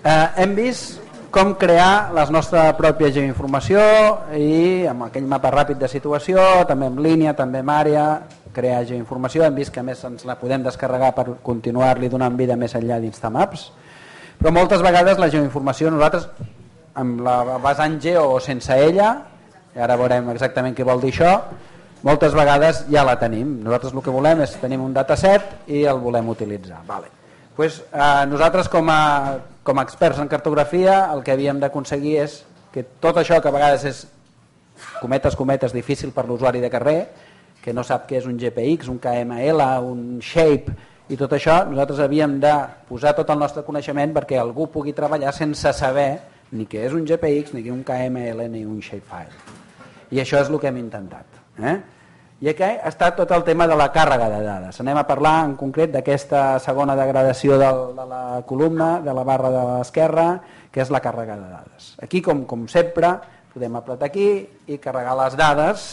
Hem vist com crear la nostra pròpia geoinformació i amb aquell mapa ràpid de situació, també en línia, també en àrea, crear geoinformació. Hem vist que a més ens la podem descarregar per continuar-li donant vida més enllà d'Instamaps, però moltes vegades la geoinformació nosaltres, amb la vessant geo o sense ella, i ara veurem exactament què vol dir això, moltes vegades ja la tenim. Nosaltres el que volem és tenir un dataset i el volem utilitzar. Nosaltres com a experts en cartografia el que havíem d'aconseguir és que tot això que a vegades és cometes difícil per l'usuari de carrer, que no sap què és un GPX, un KML, un Shape i tot això, nosaltres havíem de posar tot el nostre coneixement perquè algú pugui treballar sense saber ni què és un GPX, ni un KML, ni un Shapefile. I això és el que hem intentat. I aquí està tot el tema de la càrrega de dades. Anem a parlar en concret d'aquesta segona degradació de la columna, de la barra de l'esquerra, que és la càrrega de dades. Aquí, com sempre, podem apretar aquí i carregar les dades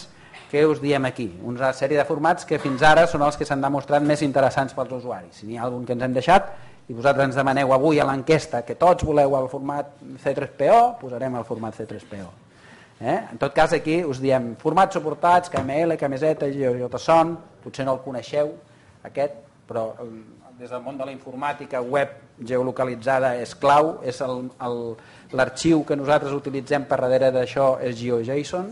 que us diem aquí. Una sèrie de formats que fins ara són els que s'han demostrat més interessants pels usuaris. Si n'hi ha algun que ens hem deixat i vosaltres ens demaneu avui a l'enquesta que tots voleu el format C3PO, posarem el format C3PO. En tot cas aquí us diem formats suportats, KML, KMZ, JSON, potser no el coneixeu aquest, però des del món de la informàtica web geolocalitzada és clau, és l'arxiu que nosaltres utilitzem per darrere d'això és GeoJSON,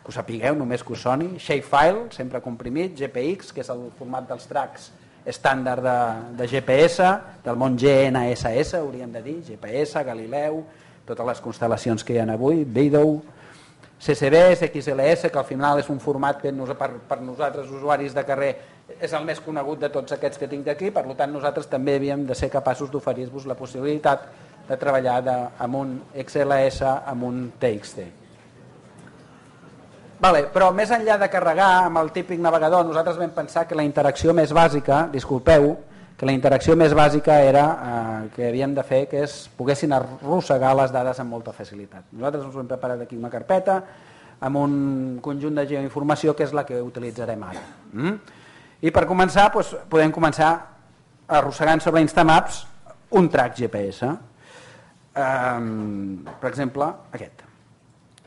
que ho sapigueu, només que us soni, Shapefile, sempre comprimit, GPX, que és el format dels tracks estàndard de GPS, del món GNSS, hauríem de dir, GPS, Galileu, totes les constel·lacions que hi ha avui, Beidou, CCBs, XLS, que al final és un format que per nosaltres, usuaris de carrer, és el més conegut de tots aquests que tinc aquí, per tant nosaltres també havíem de ser capaços d'oferir-vos la possibilitat de treballar amb un XLS, amb un TXT. Però més enllà de carregar amb el típic navegador, nosaltres vam pensar que la interacció més bàsica, disculpeu, que la interacció més bàsica era que havíem de fer que poguessin arrossegar les dades amb molta facilitat. Nosaltres ens hem preparat aquí una carpeta amb un conjunt de geoinformació que és la que utilitzarem ara. I per començar podem començar arrossegant sobre Instamaps un track GPS. Per exemple, aquest.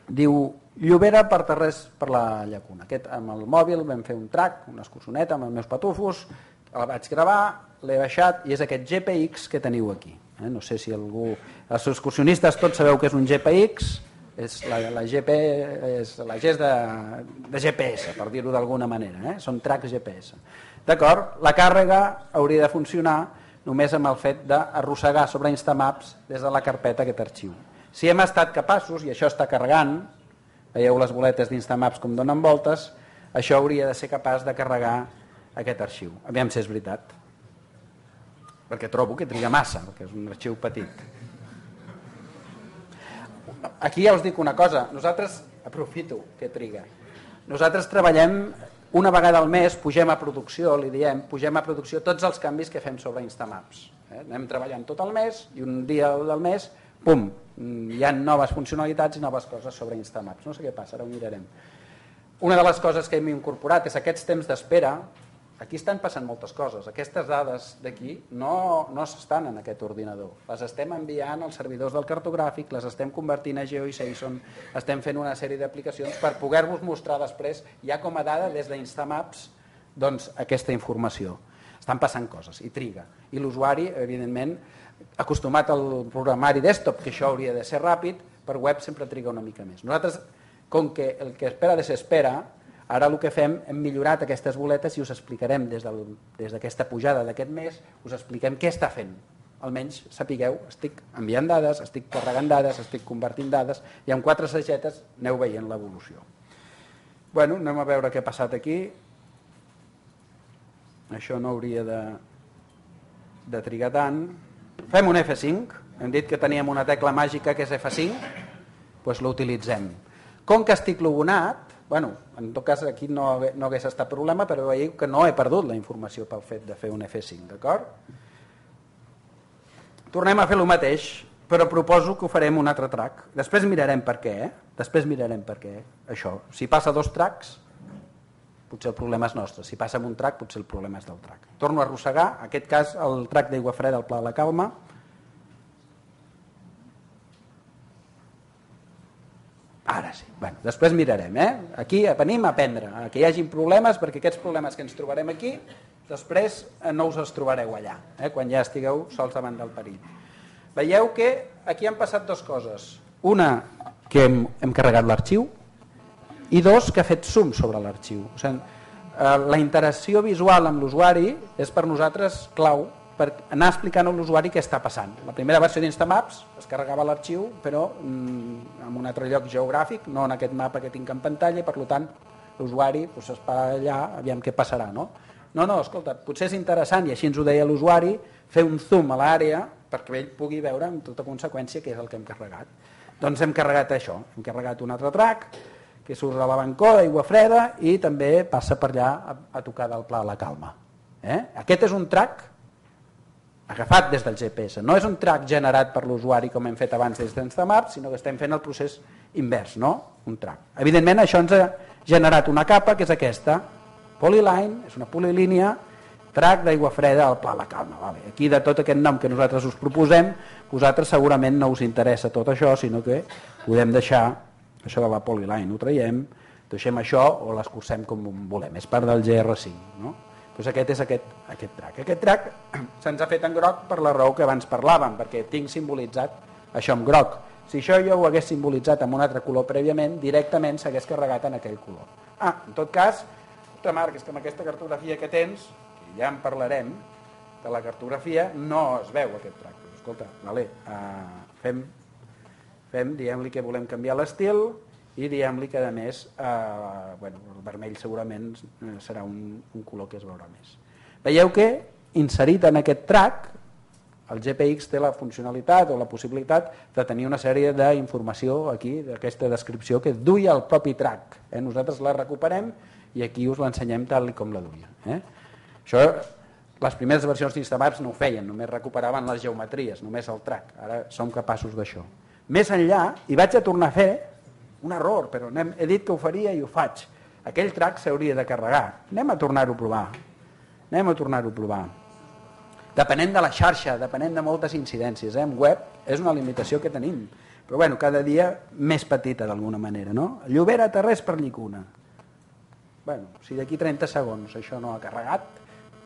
Diu Llobera per Terrés per la Llacuna. Aquest amb el mòbil vam fer un track, una excursioneta amb els meus patufos, el vaig gravar, l'he baixat i és aquest GPX que teniu aquí. No sé si algú... Els excursionistes tots sabeu que és un GPX, la GP és la G de GPS, per dir-ho d'alguna manera, són tracks GPS. D'acord? La càrrega hauria de funcionar només amb el fet d'arrossegar sobre Instamaps des de la carpeta aquest arxiu. Si hem estat capaços, i això està carregant, veieu les boletes d'Instamaps com donen voltes, això hauria de ser capaç de carregar aquest arxiu. Aviam si és veritat. Perquè trobo que triga massa, perquè és un arxiu petit. Aquí ja us dic una cosa, nosaltres, aprofito que triga, nosaltres treballem una vegada al mes, pugem a producció, li diem, pugem a producció tots els canvis que fem sobre Instamaps. Anem treballant tot el mes i un dia del mes, pum, hi ha noves funcionalitats i noves coses sobre Instamaps. No sé què passa, ara ho mirarem. Una de les coses que hem incorporat és aquests temps d'espera. Aquí estan passant moltes coses. Aquestes dades d'aquí no s'estan en aquest ordinador. Les estem enviant als servidors del cartogràfic, les estem convertint a GeoJSON, estem fent una sèrie d'aplicacions per poder-vos mostrar després, ja com a dada des d'Instamaps, doncs aquesta informació. Estan passant coses i triga. I l'usuari, evidentment, acostumat al programari desktop, que això hauria de ser ràpid, per web sempre triga una mica més. Nosaltres, com que el que espera desespera, ara el que fem, hem millorat aquestes boletes i us explicarem des d'aquesta pujada d'aquest mes, us expliquem què està fent. Almenys sapigueu, estic enviant dades, estic carregant dades, estic convertint dades i amb 4 sagetes aneu veient l'evolució. Bueno, anem a veure què ha passat aquí. Això no hauria de trigar tant. Fem un F5, hem dit que teníem una tecla màgica que és F5, doncs l'utilitzem. Com que estic logonat, en tot cas aquí no hagués estat problema, però veieu que no he perdut la informació pel fet de fer un F5, d'acord? Tornem a fer el mateix, però proposo que ho farem un altre track. Després mirarem per què, això. Si passa 2 tracks, potser el problema és nostre. Si passa amb un track, potser el problema és del track. Torno a arrossegar, en aquest cas el track d'Aigua Freda al Pla de la Calma. Ara sí. Bueno, després mirarem. Aquí venim a aprendre, que hi hagin problemes, perquè aquests problemes que ens trobarem aquí, després no us els trobareu allà, quan ja estigueu sols davant del perill. Veieu que aquí han passat dues coses. Una, que hem carregat l'arxiu, i dos, que ha fet zoom sobre l'arxiu. O sigui, la interacció visual amb l'usuari és per nosaltres clau per anar explicant a l'usuari què està passant. La primera versió d'Instamaps es carregava l'arxiu, però en un altre lloc geogràfic, no en aquest mapa que tinc en pantalla, i per tant l'usuari s'espera allà, aviam què passarà. No, escolta, potser és interessant, i així ens ho deia l'usuari, fer un zoom a l'àrea perquè ell pugui veure amb tota conseqüència què és el que hem carregat. Doncs hem carregat això, hem carregat un altre track, que surt a la bancó d'aigua freda i també passa per allà a tocar del Pla de la Calma. Aquest és un track agafat des del GPS, no és un track generat per l'usuari com hem fet abans des d'Instamaps, sinó que estem fent el procés invers, no? Un track. Evidentment això ens ha generat una capa que és aquesta, Polyline, és una polilínia, track d'aigua freda al Pla de la Calma. Vale. Aquí de tot aquest nom que nosaltres us proposem, vosaltres segurament no us interessa tot això, sinó que podem deixar això de la Polyline, ho traiem, deixem això o l'escurcem com volem, és part del GR5, no? Doncs aquest és aquest track. Aquest track se'ns ha fet en groc per la raó que abans parlàvem, perquè tinc simbolitzat això en groc. Si això jo ho hagués simbolitzat amb un altre color prèviament, directament s'hagués carregat en aquell color. En tot cas, Marc, és que amb aquesta cartografia que tens, que ja en parlarem, de la cartografia, no es veu aquest track. Escolta, vale, diguem-li que volem canviar l'estil, i diguem-li que a més el vermell segurament serà un color que es veurà més. Veieu que inserit en aquest track el GPX té la funcionalitat o la possibilitat de tenir una sèrie d'informació aquí, d'aquesta descripció que duia el propi track. Nosaltres la recuperem i aquí us l'ensenyem tal com la duia. Això, les primeres versions d'Instamaps no ho feien, només recuperaven les geometries, només el track. Ara som capaços d'això. Més enllà, hi vaig a tornar a fer un error, però he dit que ho faria i ho faig. Aquell track s'hauria de carregar. Anem a tornar-ho a provar. Depenent de la xarxa, depenent de moltes incidències. En web és una limitació que tenim, però cada dia més petita d'alguna manera. No? Llobera, Tarrés per Llicuna. Si d'aquí 30 segons això no ha carregat,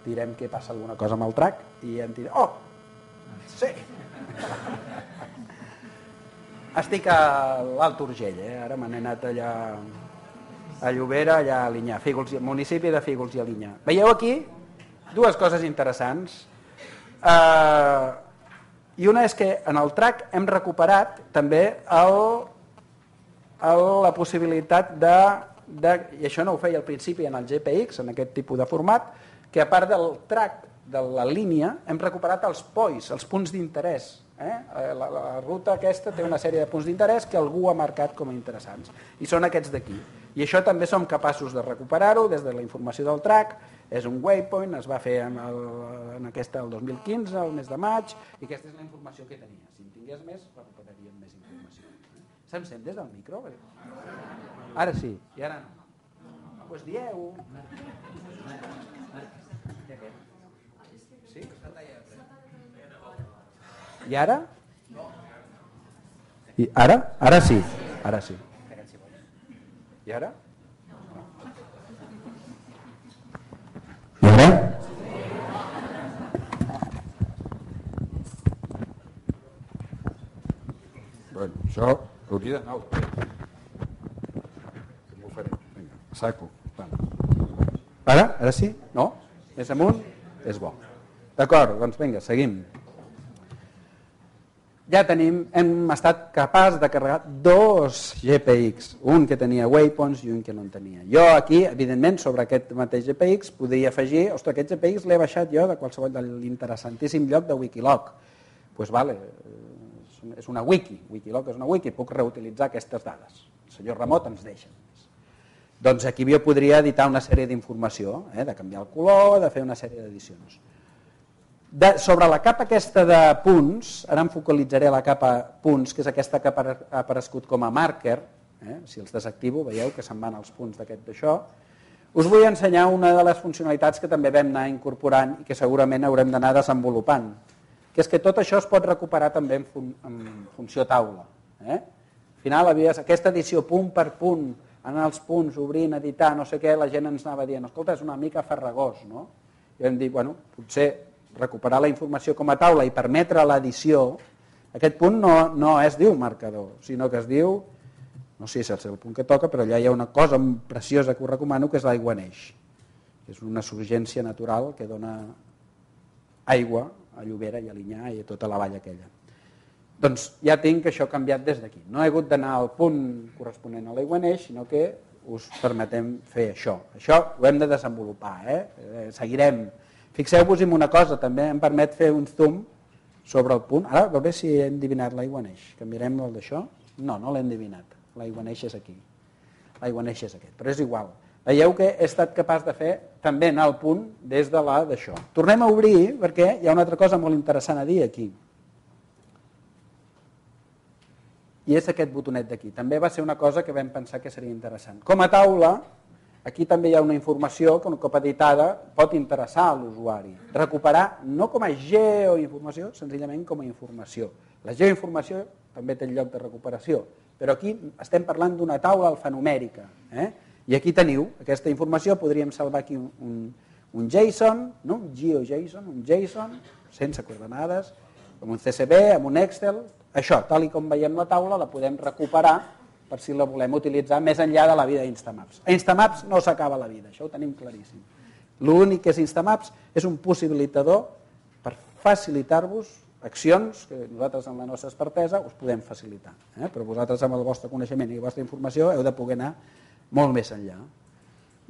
direm que passa alguna cosa amb el track i em dirà, oh, sí! Estic a l'Alt Urgell, ara me n'he anat allà a Llobera, allà a Alinyà, municipi de Fígols i Alinyà. Veieu aquí dues coses interessants. I una és que en el track hem recuperat també la possibilitat i això no ho feia al principi en el GPX, en aquest tipus de format, que a part del track de la línia hem recuperat els POIs, els punts d'interès. La ruta aquesta té una sèrie de punts d'interès que algú ha marcat com a interessants i són aquests d'aquí, i això també som capaços de recuperar-ho des de la informació del track. És un waypoint, es va fer en aquesta el 2015, el mes de maig, i aquesta és la informació que tenia. Si en tingués més, recuperaríem més informació. Se'm sent des del micro? Ara sí, i ara no. Doncs dieu. Sí? I ara? I ara? Ara sí. Ara sí. I ara? I ara? Bueno, això hauria d'anar al revés. M'ho faré. Vinga, saco. Ara? Ara sí? No? Més amunt? És bo. D'acord, doncs vinga, seguim. Ja hem estat capaç de carregar dos GPX, un que tenia waypoints i un que no en tenia. Jo aquí, evidentment, sobre aquest mateix GPX podria afegir, ostres, aquest GPX l'he baixat jo de qualsevol de l'interessantíssim lloc de Wikiloc. Doncs vale, és una wiki, Wikiloc és una wiki, puc reutilitzar aquestes dades. El senyor Ramot ens deixa. Doncs aquí jo podria editar una sèrie d'informació, de canviar el color, de fer una sèrie d'edicions. Sobre la capa aquesta de punts, ara em focalitzaré a la capa punts, que és aquesta que ha aparegut com a marker, si els desactivo, veieu que se'n van els punts d'aquest d'això, us vull ensenyar una de les funcionalitats que també vam anar incorporant i que segurament haurem d'anar desenvolupant, que és que tot això es pot recuperar també en funció taula. final aquesta edició punt per punt, anar als punts, obrint, editar, no sé què, la gent ens anava dient, escolta, és una mica farragós, no? I vam dir, bueno, potser recuperar la informació com a taula i permetre l'edició, aquest punt no es diu marcador, sinó que es diu, no sé si és el punt que toca, però allà hi ha una cosa preciosa que us recomano, que és l'aigua neix. És una surgència natural que dona aigua a Llobera i a Linyà i a tota la vall aquella. Doncs ja tinc això canviat des d'aquí. No he hagut d'anar al punt corresponent a l'aigua neix, sinó que us permetem fer això. Això ho hem de desenvolupar, seguirem. Fixeu-vos en una cosa, també em permet fer un zoom sobre el punt. Ara, a veure si he endivinat l'aigua neix. Canviarem el d'això? No l'he endivinat. L'aigua neix és aquí. L'aigua neix és aquest, però és igual. Veieu que he estat capaç de fer també anar al punt des de la d'això. Tornem a obrir perquè hi ha una altra cosa molt interessant a dir aquí. I és aquest botonet d'aquí. També va ser una cosa que vam pensar que seria interessant. Com a taula, aquí també hi ha una informació que un cop editada pot interessar a l'usuari. Recuperar no com a geoinformació, senzillament com a informació. La geoinformació també té lloc de recuperació, però aquí estem parlant d'una taula alfanumèrica. I aquí teniu aquesta informació, podríem salvar aquí un JSON, no? Un GeoJSON, un JSON, sense coordenades, amb un CSV, amb un Excel. Això, tal i com veiem la taula, la podem recuperar per si la volem utilitzar més enllà de la vida d'Instamaps. A Instamaps no s'acaba la vida, això ho tenim claríssim. L'únic que és Instamaps és un possibilitador per facilitar-vos accions que nosaltres amb la nostra expertesa us podem facilitar. Però vosaltres amb el vostre coneixement i la vostra informació heu de poder anar molt més enllà.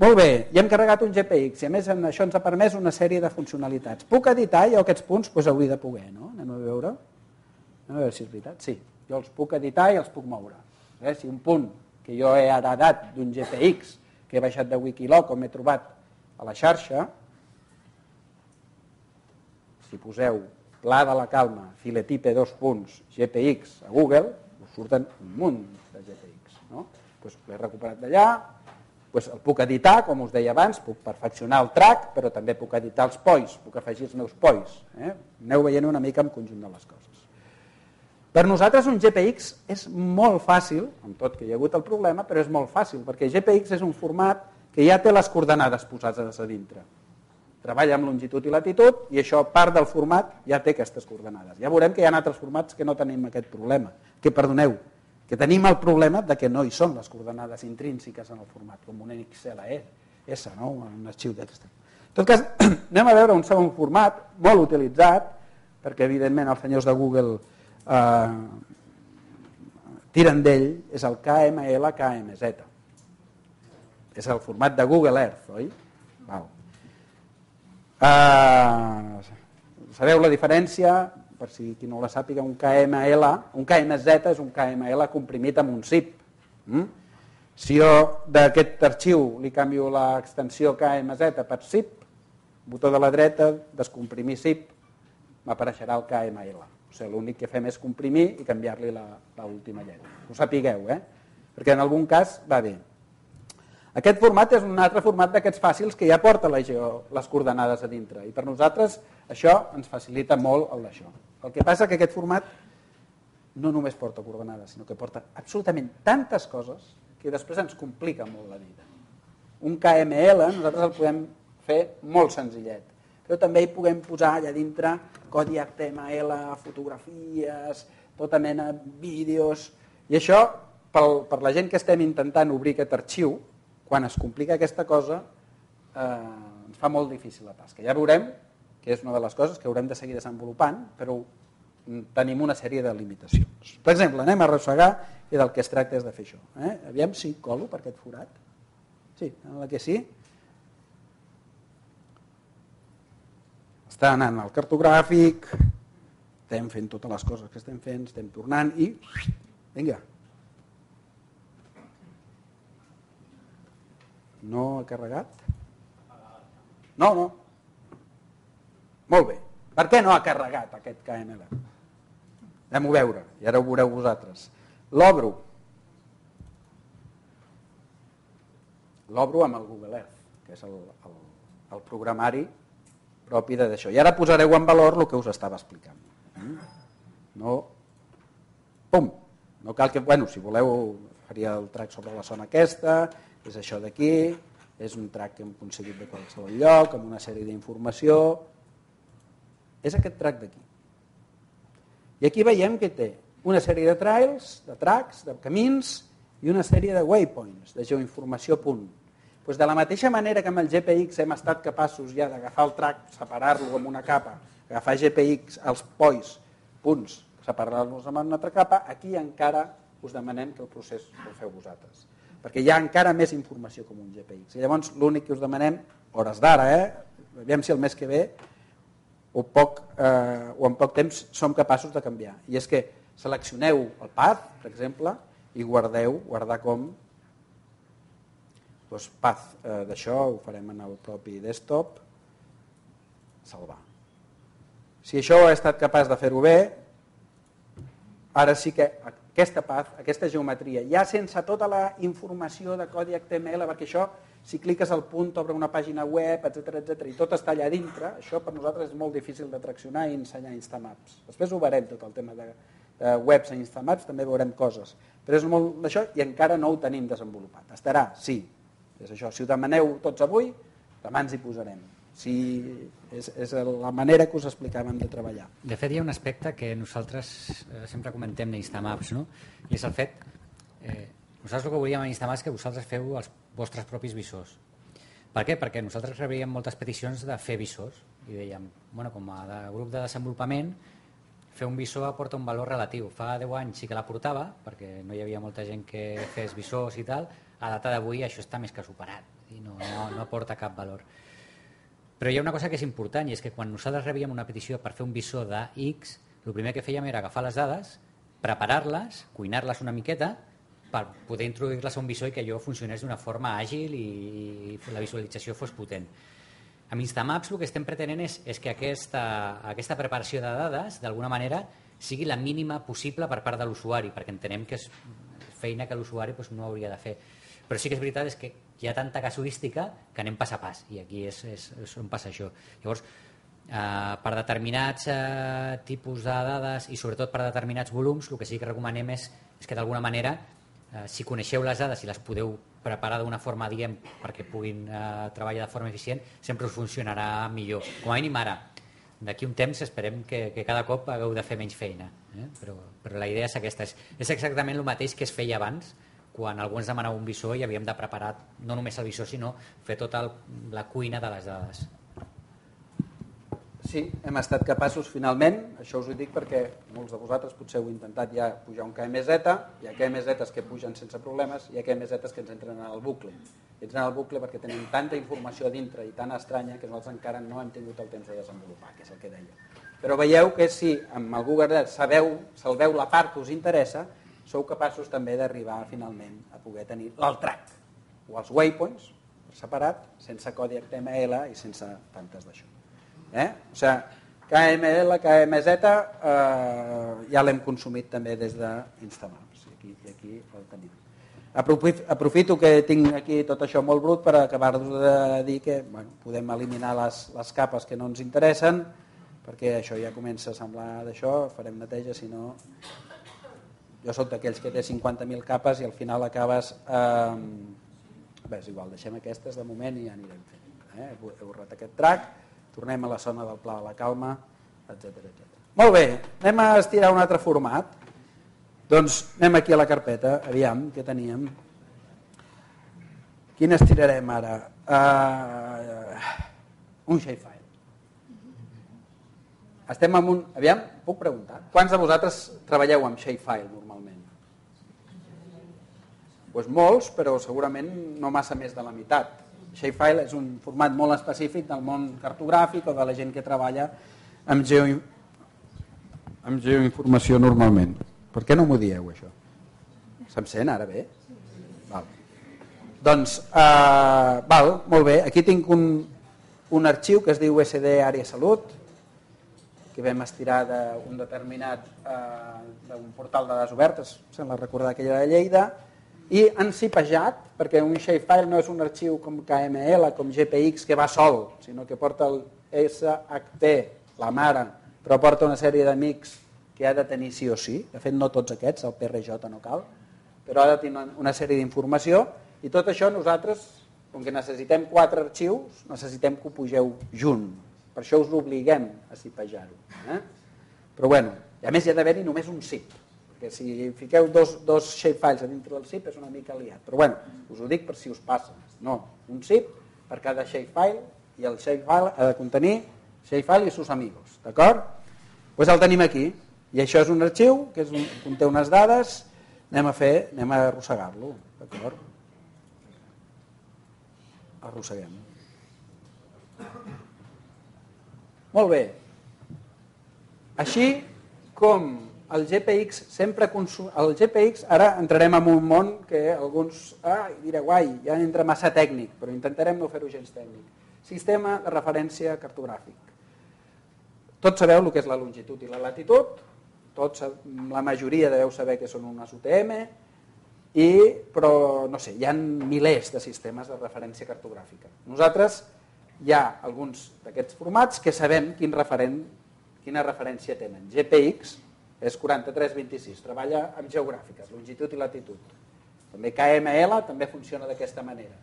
Molt bé, ja hem carregat un GPX i a més això ens ha permès una sèrie de funcionalitats. Puc editar jo aquests punts? Doncs hauria de poder, no? Anem a veure si és veritat. Sí, jo els puc editar i els puc moure. Si un punt que jo he heredat d'un GPX que he baixat de Wikiloc o m'he trobat a la xarxa, si poseu Pla de la Calma, Filetipe, GPX a Google, us surten un munt de GPX. Doncs l'he recuperat d'allà, el puc editar, com us deia abans, puc perfeccionar el track, però també puc editar els pois, puc afegir els meus pois. Aneu veient una mica en conjunt de les coses. Per nosaltres un GPX és molt fàcil, amb tot que hi ha hagut el problema, però és molt fàcil, perquè GPX és un format que ja té les coordenades posades a dintre. Treballa amb longitud i latitud i això, part del format, ja té aquestes coordenades. Ja veurem que hi ha altres formats que no tenim aquest problema, que tenim el problema de que no hi són les coordenades intrínseques en el format, com un XLS, no? Un arxiu d'aquest. En tot cas, anem a veure un segon format molt utilitzat, perquè evidentment els senyors de Google tiren d'ell, és el KML-KMZ. És el format de Google Earth, oi? Sabeu la diferència? Per si qui no la sàpiga, un KMZ és un KML comprimit amb un zip. Si jo d'aquest arxiu li canvio l'extensió KMZ per zip, botó de la dreta, descomprimir zip, m'apareixerà el KML. O sigui, l'únic que fem és comprimir i canviar-li l'última lletra. Ho sapigueu, perquè en algun cas va bé. Aquest format és un altre format d'aquests fàcils que ja porta les coordenades a dintre i per nosaltres això ens facilita molt el d'això. El que passa que aquest format no només porta coordenades, sinó que porta absolutament tantes coses que després ens complica molt la vida. Un KML nosaltres el podem fer molt senzillet, però també hi puguem posar allà dintre codi HTML, fotografies, tota mena de vídeos, i això per la gent que estem intentant obrir aquest arxiu, quan es complica aquesta cosa, ens fa molt difícil la tasca. Ja veurem que és una de les coses que haurem de seguir desenvolupant, però tenim una sèrie de limitacions. Per exemple, anem a arrossegar i del que es tracta és de fer això. Aviam si colo per aquest forat. Sí, sembla que sí. Està anant al cartogràfic, estem fent totes les coses que estem fent, estem tornant i... Vinga. No ha carregat? No. Molt bé. Per què no ha carregat aquest KML? Anem a veure, i ara ho veureu vosaltres. L'obro. L'obro amb el Google Earth, que és el programari propi d'això. I ara posareu en valor el que us estava explicant. No. Pum! No cal que, bueno, si voleu, faria el track sobre la zona aquesta, és això d'aquí, és un track que hem aconseguit de qualsevol lloc, amb una sèrie d'informació. És aquest track d'aquí. I aquí veiem que té una sèrie de trails, de tracks, de camins i una sèrie de waypoints, de geoinformació punt. Doncs de la mateixa manera que amb el GPX hem estat capaços ja d'agafar el track, separar-lo amb una capa, agafar GPX, els punts, separar-los amb una altra capa, aquí encara us demanem que el procés el feu vosaltres. Perquè hi ha encara més informació com un GPX. I llavors l'únic que us demanem, hores d'ara, aviam si el mes que ve o en poc temps som capaços de canviar. I és que seleccioneu el path, per exemple, i guardar com path d'això, ho farem en el propi desktop, salvar. Si això he estat capaç de fer-ho bé, ara sí que aquesta path, aquesta geometria, ja sense tota la informació de codi HTML, perquè això, si cliques al punt, obre una pàgina web, etc i tot està allà dintre, això per nosaltres és molt difícil de traccionar i ensenyar Instamaps. Després ho veurem, tot el tema de webs a Instamaps, també veurem coses. Però és molt d'això i encara no ho tenim desenvolupat. Estarà, sí. És això. Si ho demaneu tots avui, demà ens hi posarem. És la manera que us explicàvem de treballar. De fet, hi ha un aspecte que nosaltres sempre comentem d'Instamaps, no? I és el fet, nosaltres el que volíem a Instamaps és que vosaltres feu els vostres propis visors. Per què? Perquè nosaltres rebíem moltes peticions de fer visors i dèiem, bueno, com a grup de desenvolupament, fer un visor aporta un valor relatiu. Fa 10 anys sí que l'aportava, perquè no hi havia molta gent que fes visors i tal. A data d'avui això està més que superat i no aporta cap valor. Però hi ha una cosa que és important i és que quan nosaltres rebíem una petició per fer un visor de X, el primer que fèiem era agafar les dades, preparar-les, cuinar-les una miqueta per poder introduir-les a un visor i que allò funcionés d'una forma àgil i la visualització fos potent. Amb Instamaps el que estem pretenent és que aquesta preparació de dades d'alguna manera sigui la mínima possible per part de l'usuari, perquè entenem que és feina que l'usuari no hauria de fer. Però sí que és veritat és que hi ha tanta casuística que anem pas a pas i aquí és on passa això. Llavors, per determinats tipus de dades i sobretot per determinats volums, el que sí que recomanem és que d'alguna manera, si coneixeu les dades i les podeu preparar d'una forma, diguem, perquè puguin treballar de forma eficient, sempre us funcionarà millor. Com a mínim ara. D'aquí un temps esperem que cada cop hagueu de fer menys feina, però la idea és aquesta. És exactament el mateix que es feia abans, quan algú ens demanava un visor i havíem de preparar no només el visor, sinó fer tota la cuina de les dades. Sí, hem estat capaços finalment, això us ho dic perquè molts de vosaltres potser heu intentat ja pujar un KMZ, hi ha KMZs que pugen sense problemes, hi ha KMZs que ens entren en el bucle. Entren en el bucle perquè tenim tanta informació dintre i tan estranya que nosaltres encara no hem tingut el temps de desenvolupar, que és el que deia. Però veieu que si amb el Google Earth salveu la part que us interessa, sou capaços també d'arribar finalment a poder tenir el track o els waypoints separat, sense codi HTML i sense tantes d'això. O sigui, KML, KMZ ja l'hem consumit també des d'Instamaps i aquí el tenim. Aprofito que tinc aquí tot això molt brut per acabar-vos de dir que podem eliminar les capes que no ens interessen perquè això ja comença a semblar d'això, farem neteja, si no... Jo soc d'aquells que té 50.000 capes i al final acabes... Bé, és igual, deixem aquestes de moment i ja anirem fent. Heu borrat aquest track, tornem a la zona del Pla de la Calma, etc. Molt bé, anem a estirar un altre format. Doncs anem aquí a la carpeta, aviam, què teníem. Quin estirarem ara? Un shapefile. Estem amb un... Aviam, puc preguntar? Quants de vosaltres treballeu amb shapefile normalment? Doncs molts, però segurament no massa més de la meitat. Shapefile és un format molt específic del món cartogràfic o de la gent que treballa amb geoinformació normalment. Per què no m'ho dieu, això? Se'm sent ara bé? Val. Doncs, molt bé. Aquí tinc un arxiu que es diu SD Àrea Salut, que vam estirar d'un determinat d'un portal de dades obertes, sembla recordar que era de Lleida, i han cipejat, perquè un shapefile no és un arxiu com KML, com GPX, que va sol, sinó que porta el SHP, la mare, però porta una sèrie d'amics que ha de tenir sí o sí, de fet no tots aquests, el PRJ no cal, però ha de tenir una sèrie d'informació i tot això nosaltres, com que necessitem 4 arxius, necessitem que ho pugeu junt, per això us obliguem a cipejar-ho. Però bueno, a més hi ha d'haver-hi només un zip, perquè si fiqueu dos shapefiles a dintre del zip és una mica liat, però bueno, us ho dic per si us passa, no, un zip per cada shapefile i el shapefile ha de contenir shapefile i sus amigos, d'acord? Doncs el tenim aquí i això és un arxiu que conté unes dades, anem a arrossegar-lo, d'acord? Arrosseguem. Molt bé. Així com el GPX sempre el GPX, ara entrarem en un món que alguns direu, ja entra massa tècnic, però intentarem no fer-ho gens tècnic. Sistema de referència cartogràfic. Tots sabeu el que és la longitud i la latitud, la majoria deveu saber que són unes UTM, però no sé, hi ha milers de sistemes de referència cartogràfica. Nosaltres hi ha alguns d'aquests formats que sabem quina referència tenen. GPX és 4326, treballa amb geogràfiques, longitud i latitud. També KML també funciona d'aquesta manera.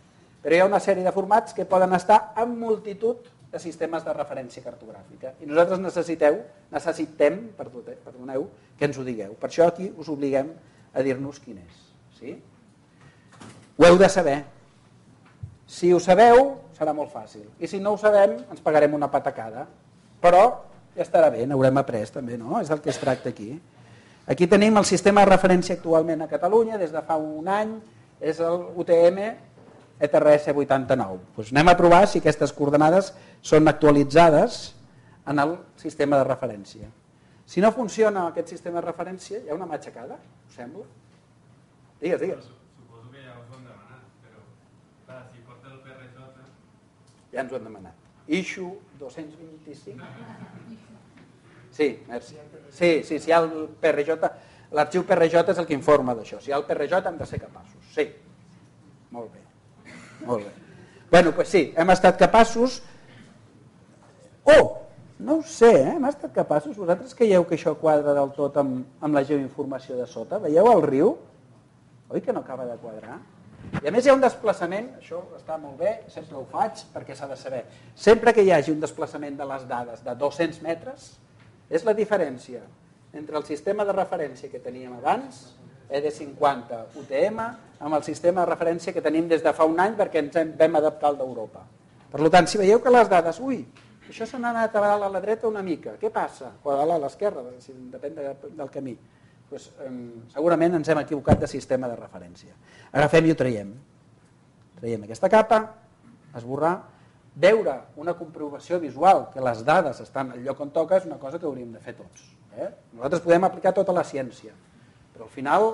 Però hi ha una sèrie de formats que poden estar en multitud de sistemes de referència cartogràfica. I nosaltres necessitem que ens ho digueu. Per això aquí us obliguem a dir-nos quin és. Sí? Ho heu de saber. Si ho sabeu, serà molt fàcil. I si no ho sabem, ens pagarem una patacada. Però ja estarà bé, n'haurem après també, no? És del que es tracta aquí. Aquí tenim el sistema de referència actualment a Catalunya, des de fa un any, és el UTM ETRS 89. Doncs anem a provar si aquestes coordenades són actualitzades en el sistema de referència. Si no funciona aquest sistema de referència, hi ha una matxacada, us sembla? Digues. Suposo que ja us ho han demanat, però clar, si porta el PRJ... Ja ens ho han demanat. Issue 225. Sí, merci. Sí, si hi ha el PRJ, l'arxiu PRJ és el que informa d'això. Si hi ha el PRJ hem de ser capaços. Sí, molt bé. Bueno, doncs sí, hem estat capaços... No ho sé, hem estat capaços. Vosaltres creieu que això quadra del tot amb la geoinformació de sota? Veieu el riu? Oi que no acaba de quadrar? I a més hi ha un desplaçament, això està molt bé, sempre ho faig perquè s'ha de saber. Sempre que hi hagi un desplaçament de les dades de 200 metres, és la diferència entre el sistema de referència que teníem abans, ED50 UTM, amb el sistema de referència que tenim des de fa un any perquè ens vam adaptar al d'Europa. Per tant, si veieu que les dades, això s'ha anat a la dreta una mica, què passa? O a l'esquerra, depèn del camí. Doncs, segurament ens hem equivocat de sistema de referència. Agafem i ho traiem. Traiem aquesta capa, esborrar, veure una comprovació visual que les dades estan al lloc on toca és una cosa que hauríem de fer tots. Nosaltres podem aplicar tota la ciència, però al final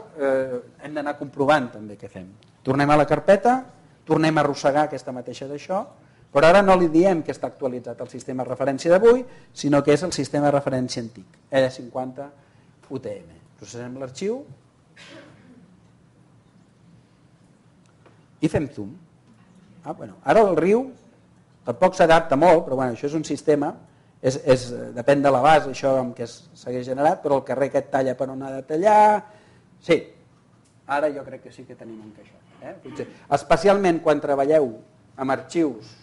hem d'anar comprovant també què fem. Tornem a la carpeta, tornem a arrossegar aquesta mateixa d'això, però ara no li diem que està actualitzat el sistema de referència d'avui, sinó que és el sistema de referència antic, ED50 UTM. Processem l'arxiu i fem zoom. Ara el riu tampoc s'adapta molt, però això és un sistema, depèn de la base això amb què s'hagués generat, però el carrer aquest talla per on ha de tallar. Sí, ara jo crec que sí que tenim encaixat. Especialment quan treballeu amb arxius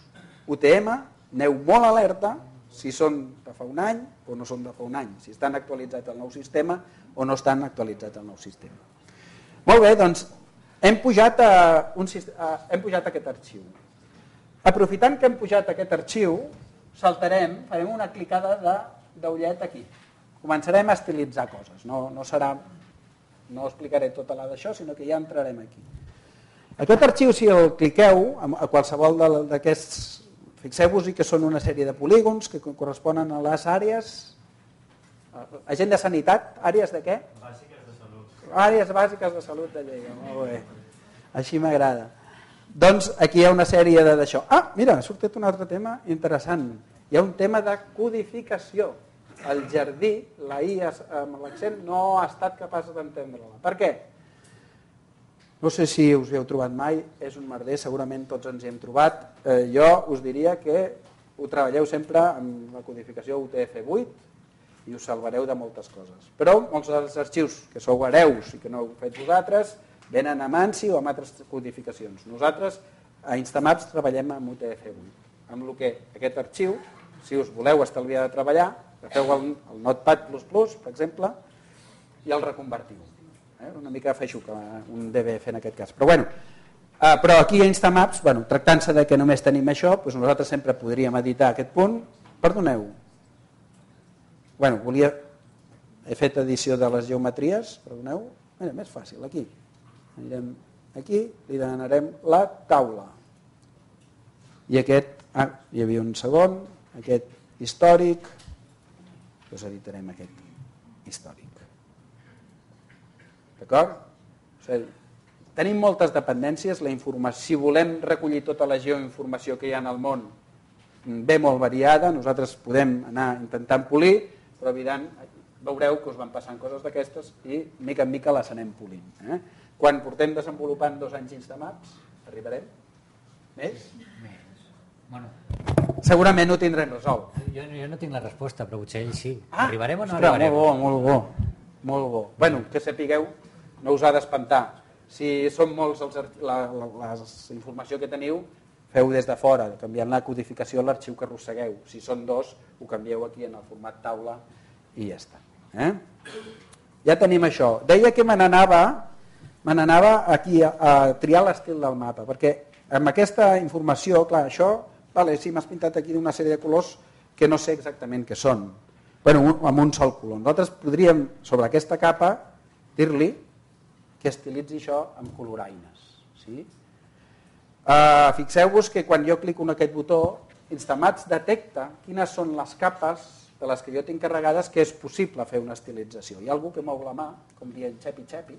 UTM, aneu molt alerta si són de fa un any o no són de fa un any, si estan actualitzats al nou sistema o no estan actualitzats al nou sistema. Molt bé, doncs hem pujat aquest arxiu. Aprofitant que hem pujat aquest arxiu, saltarem, farem una clicada d'ullet aquí. Començarem a estilitzar coses, no explicaré tota la d'això, sinó que ja entrarem aquí. Aquest arxiu, si el cliqueu a qualsevol d'aquests, fixeu-vos que són una sèrie de polígons que corresponen a les àrees. Agent de sanitat, àrees de què? Bàsiques de salut. Àrees bàsiques de salut de Lleida, molt bé. Així m'agrada. Doncs aquí hi ha una sèrie d'això. Mira, ha sortit un altre tema interessant. Hi ha un tema de codificació. El jardí, la I amb l'accent, no ha estat capaç d'entendre-la. Per què? No sé si us hi heu trobat mai, és un merder, segurament tots ens hi hem trobat. Jo us diria que ho treballeu sempre amb la codificació UTF-8 i us salvareu de moltes coses. Però molts dels arxius que sou hereus i que no heu fet vosaltres venen amb ANSI o amb altres codificacions. Nosaltres a Instamaps treballem amb UTF-8, amb el que aquest arxiu, si us voleu estalviar de treballar, agafeu el Notepad++, per exemple, i el reconvertiu. Una mica feixuc un DBF en aquest cas. Però aquí a Instamaps, tractant-se de que només tenim això, doncs nosaltres sempre podríem editar aquest punt. Perdoneu. He fet edició de les geometries, perdoneu. Mira, més fàcil, aquí. Anirem aquí, li donarem la taula. I aquest, hi havia un segon, aquest històric, doncs editarem aquest històric. D'acord? Tenim moltes dependències, la informació, si volem recollir tota la geoinformació que hi ha en el món, ve molt variada, nosaltres podem anar intentant polir, però veureu que us van passant coses d'aquestes i mica en mica les anem polint. Quan portem desenvolupant 2 anys Instamaps, arribarem? Més? Bueno, segurament ho tindrem resolt. jo no tinc la resposta, però potser ell sí. Arribarem o no arribarem? Molt bo. Que sapigueu, no us ha d'espantar. Si són molts la informació que teniu, feu des de fora, canviant la codificació a l'arxiu que arrossegueu. Si són 2, ho canvieu aquí en el format taula i ja està. Ja tenim això. Deia que me n'anava aquí a triar l'estil del mapa, perquè amb aquesta informació, clar, això, sí, m'has pintat aquí una sèrie de colors que no sé exactament què són, amb un sol color. Nosaltres podríem, sobre aquesta capa, dir-li que estilitzi això amb coloraines. Sí? Fixeu-vos que quan jo clico en aquest botó, Instamaps detecta quines són les capes de les que jo tinc carregades que és possible fer una estilització. Hi ha algú que mou la mà, com dient xepi-xepi.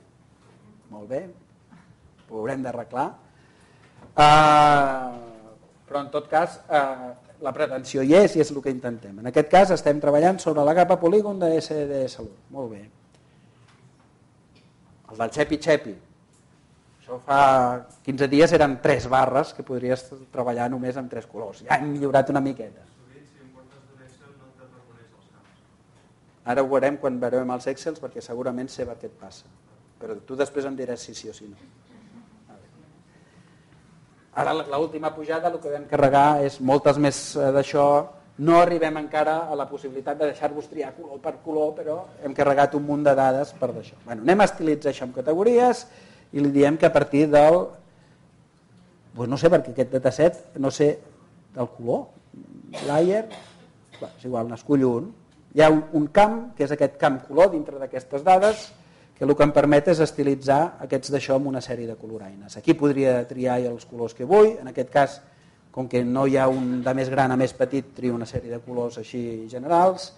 Molt bé, ho haurem d'arreglar. Però en tot cas, la pretensió hi és i és el que intentem. En aquest cas estem treballant sobre la capa polígon de SD Salut. Molt bé. El del xepi-xepi. Això fa 15 dies eren 3 barres que podries treballar només amb 3 colors. Ja hem millorat una miqueta. Ara ho veurem quan veurem els Excels perquè segurament sé per què et passa. Però tu després em diràs si sí o si no. Ara l'última pujada el que vam carregar és moltes més d'això. No arribem encara a la possibilitat de deixar-vos triar color per color, però hem carregat un munt de dades per d'això. Anem a estilitzar això amb categories i li diem que a partir del... no sé, perquè aquest dataset, no sé, del color, layer, és igual, n'escullo un. Hi ha un camp, que és aquest camp color dintre d'aquestes dades, que el que em permet és estilitzar aquests d'això amb una sèrie de coloraines. Aquí podria triar els colors que vull, en aquest cas, com que no hi ha un de més gran a més petit, trio una sèrie de colors així generals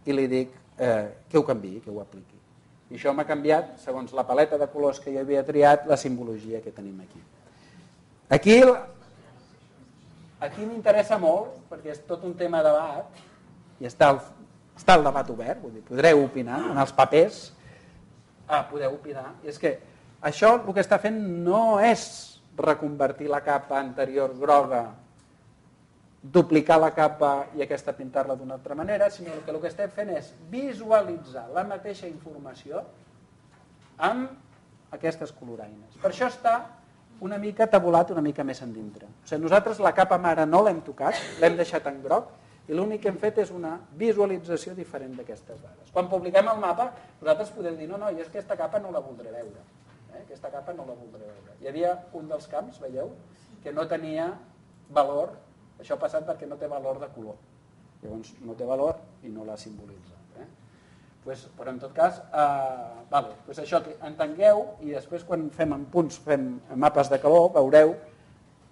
i li dic que ho canviï, que ho apliqui. I això m'ha canviat, segons la paleta de colors que jo havia triat, la simbologia que tenim aquí. Aquí m'interessa molt, perquè és tot un tema de debat, i està el debat obert, vull dir, podreu opinar en els papers, podeu opinar, i és que això el que està fent no és reconvertir la capa anterior groga, duplicar la capa i aquesta pintar-la d'una altra manera, sinó que el que estem fent és visualitzar la mateixa informació amb aquestes coloraines. Per això està una mica tabulat, una mica més endintre. O sigui, nosaltres la capa mare no l'hem tocat, l'hem deixat en groc, i l'únic que hem fet és una visualització diferent d'aquestes dades. Quan publiquem el mapa, nosaltres podem dir, no, i és que aquesta capa no la voldré veure. Aquesta capa no la voldré veure. Hi havia un dels camps, veieu, que no tenia valor, això ha passat perquè no té valor de color. Llavors no té valor i no la simbolitza. Però en tot cas, això entengueu i després quan fem en punts, fem mapes de calor, veureu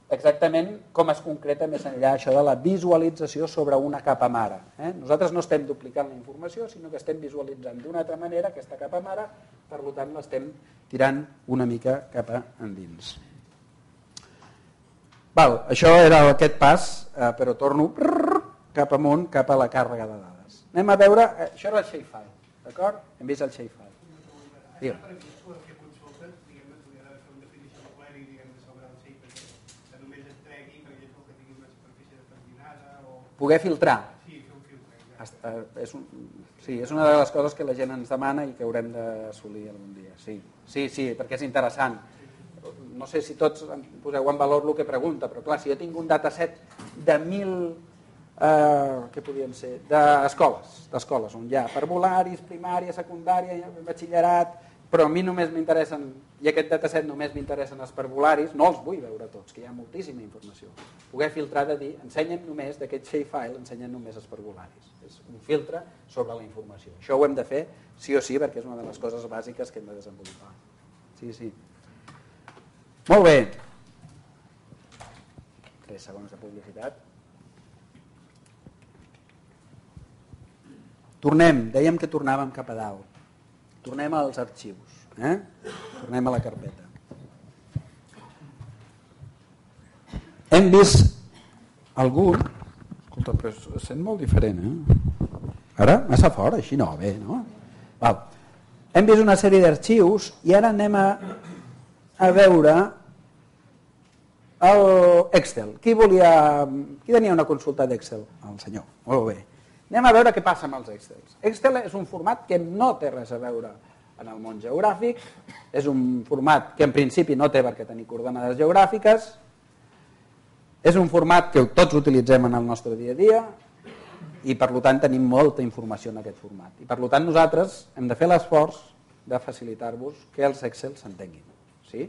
exactament com es concreta més enllà això de la visualització sobre una capa mare. Nosaltres no estem duplicant la informació, sinó que estem visualitzant d'una altra manera aquesta capa mare, per tant l'estem tirant una mica cap endins. Això era aquest pas, però torno cap amunt, cap a la càrrega de dades. Anem a veure, això era el shapefile, d'acord? Hem vist el shapefile. Digue'm. Poder filtrar. és una de les coses que la gent ens demana i que haurem d'assolir algun dia. Sí, perquè és interessant. No sé si tots poseu en valor el que pregunta, però clar, si jo tinc un dataset de 1.000, què podien ser, d'escoles, on hi ha parvularis, primària, secundària, batxillerat, però a mi només m'interessen, i aquest dataset només m'interessen els parvularis, no els vull veure tots, que hi ha moltíssima informació. Poder filtrar de dir, ensenyen només, d'aquest shapefile, ensenyen només els parvularis. És un filtre sobre la informació. Això ho hem de fer sí o sí, perquè és una de les coses bàsiques que hem de desenvolupar. Sí. Molt bé. 3 segons de publicitat. Dèiem que tornàvem cap a dalt. Tornem als arxius. Tornem a la carpeta. Hem vist algun... Escolta, però es sent molt diferent, Ara? Massa fort, així no, bé, no? Val. Hem vist una sèrie d'arxius i ara anem a veure l'Excel. Qui tenia una consulta d'Excel? El senyor. Molt bé. Anem a veure què passa amb els Excels. Excel és un format que no té res a veure en el món geogràfic, és un format que en principi no té per què tenir coordenades geogràfiques, és un format que tots utilitzem en el nostre dia a dia i per tant tenim molta informació en aquest format. I per tant nosaltres hem de fer l'esforç de facilitar-vos que els Excel s'entenguin. Sí?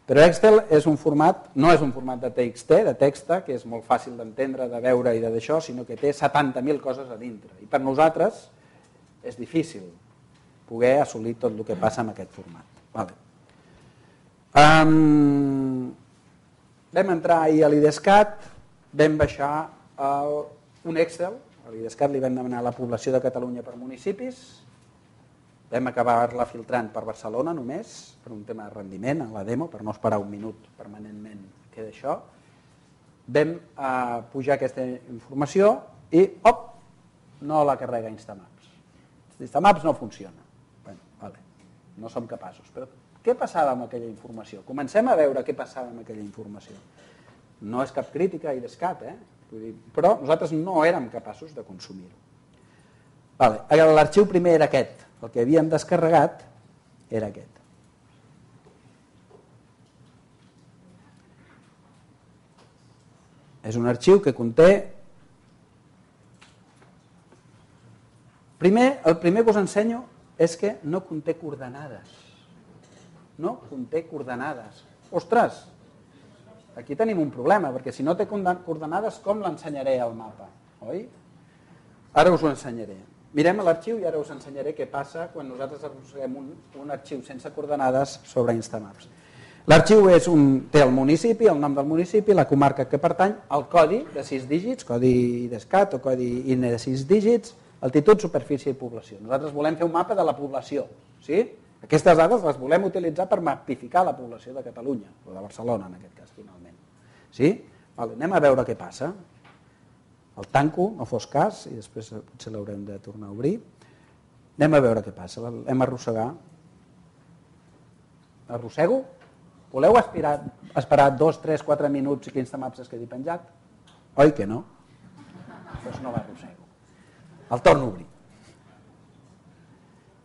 Però Excel no és un format de TXT, de texta, que és molt fàcil d'entendre, de veure i d'això, sinó que té 70.000 coses a dintre. I per nosaltres és difícil poder assolir tot el que passa en aquest format. Vale. Vam entrar ahir a l'IDESCAT, vam baixar un Excel, a l'IDESCAT li vam demanar la població de Catalunya per municipis, vam acabar-la filtrant per Barcelona només, per un tema de rendiment, en la demo, per no esperar un minut permanentment que d'això. Vam pujar aquesta informació i, no la carrega Instamaps. Instamaps no funciona. Bueno, vale, no som capaços. Però què passava amb aquella informació? Comencem a veure què passava amb aquella informació. No és cap crítica a IDESCAT, però nosaltres no érem capaços de consumir-ho. Vale. L'arxiu primer era aquest. El que havíem descarregat era aquest. És un arxiu que conté... El primer que us ensenyo és que no conté coordenades. No conté coordenades. Ostres! Aquí tenim un problema, perquè si no té coordenades, com l'ensenyaré al mapa? Oi? Ara us ho ensenyaré. Mirem l'arxiu i ara us ensenyaré què passa quan nosaltres arrosseguem un arxiu sense coordenades sobre Instamaps. L'arxiu té el municipi, el nom del municipi, la comarca que pertany, el codi de 6 dígits, codi IDESCAT o codi INE de 6 dígits, altitud, superfície i població. Nosaltres volem fer un mapa de la població. Sí? Aquestes dades les volem utilitzar per mapificar la població de Catalunya, o de Barcelona en aquest cas, finalment. Sí? Anem a veure què passa. El tanco, no fos cas, i després potser l'haurem de tornar a obrir. Anem a veure què passa. L'hem arrossegar. Arrossego? Voleu esperar 2, 3, 4 minuts i que Instamaps es quedi penjat? Oi que no? Doncs no l'arrossego. El torno a obrir.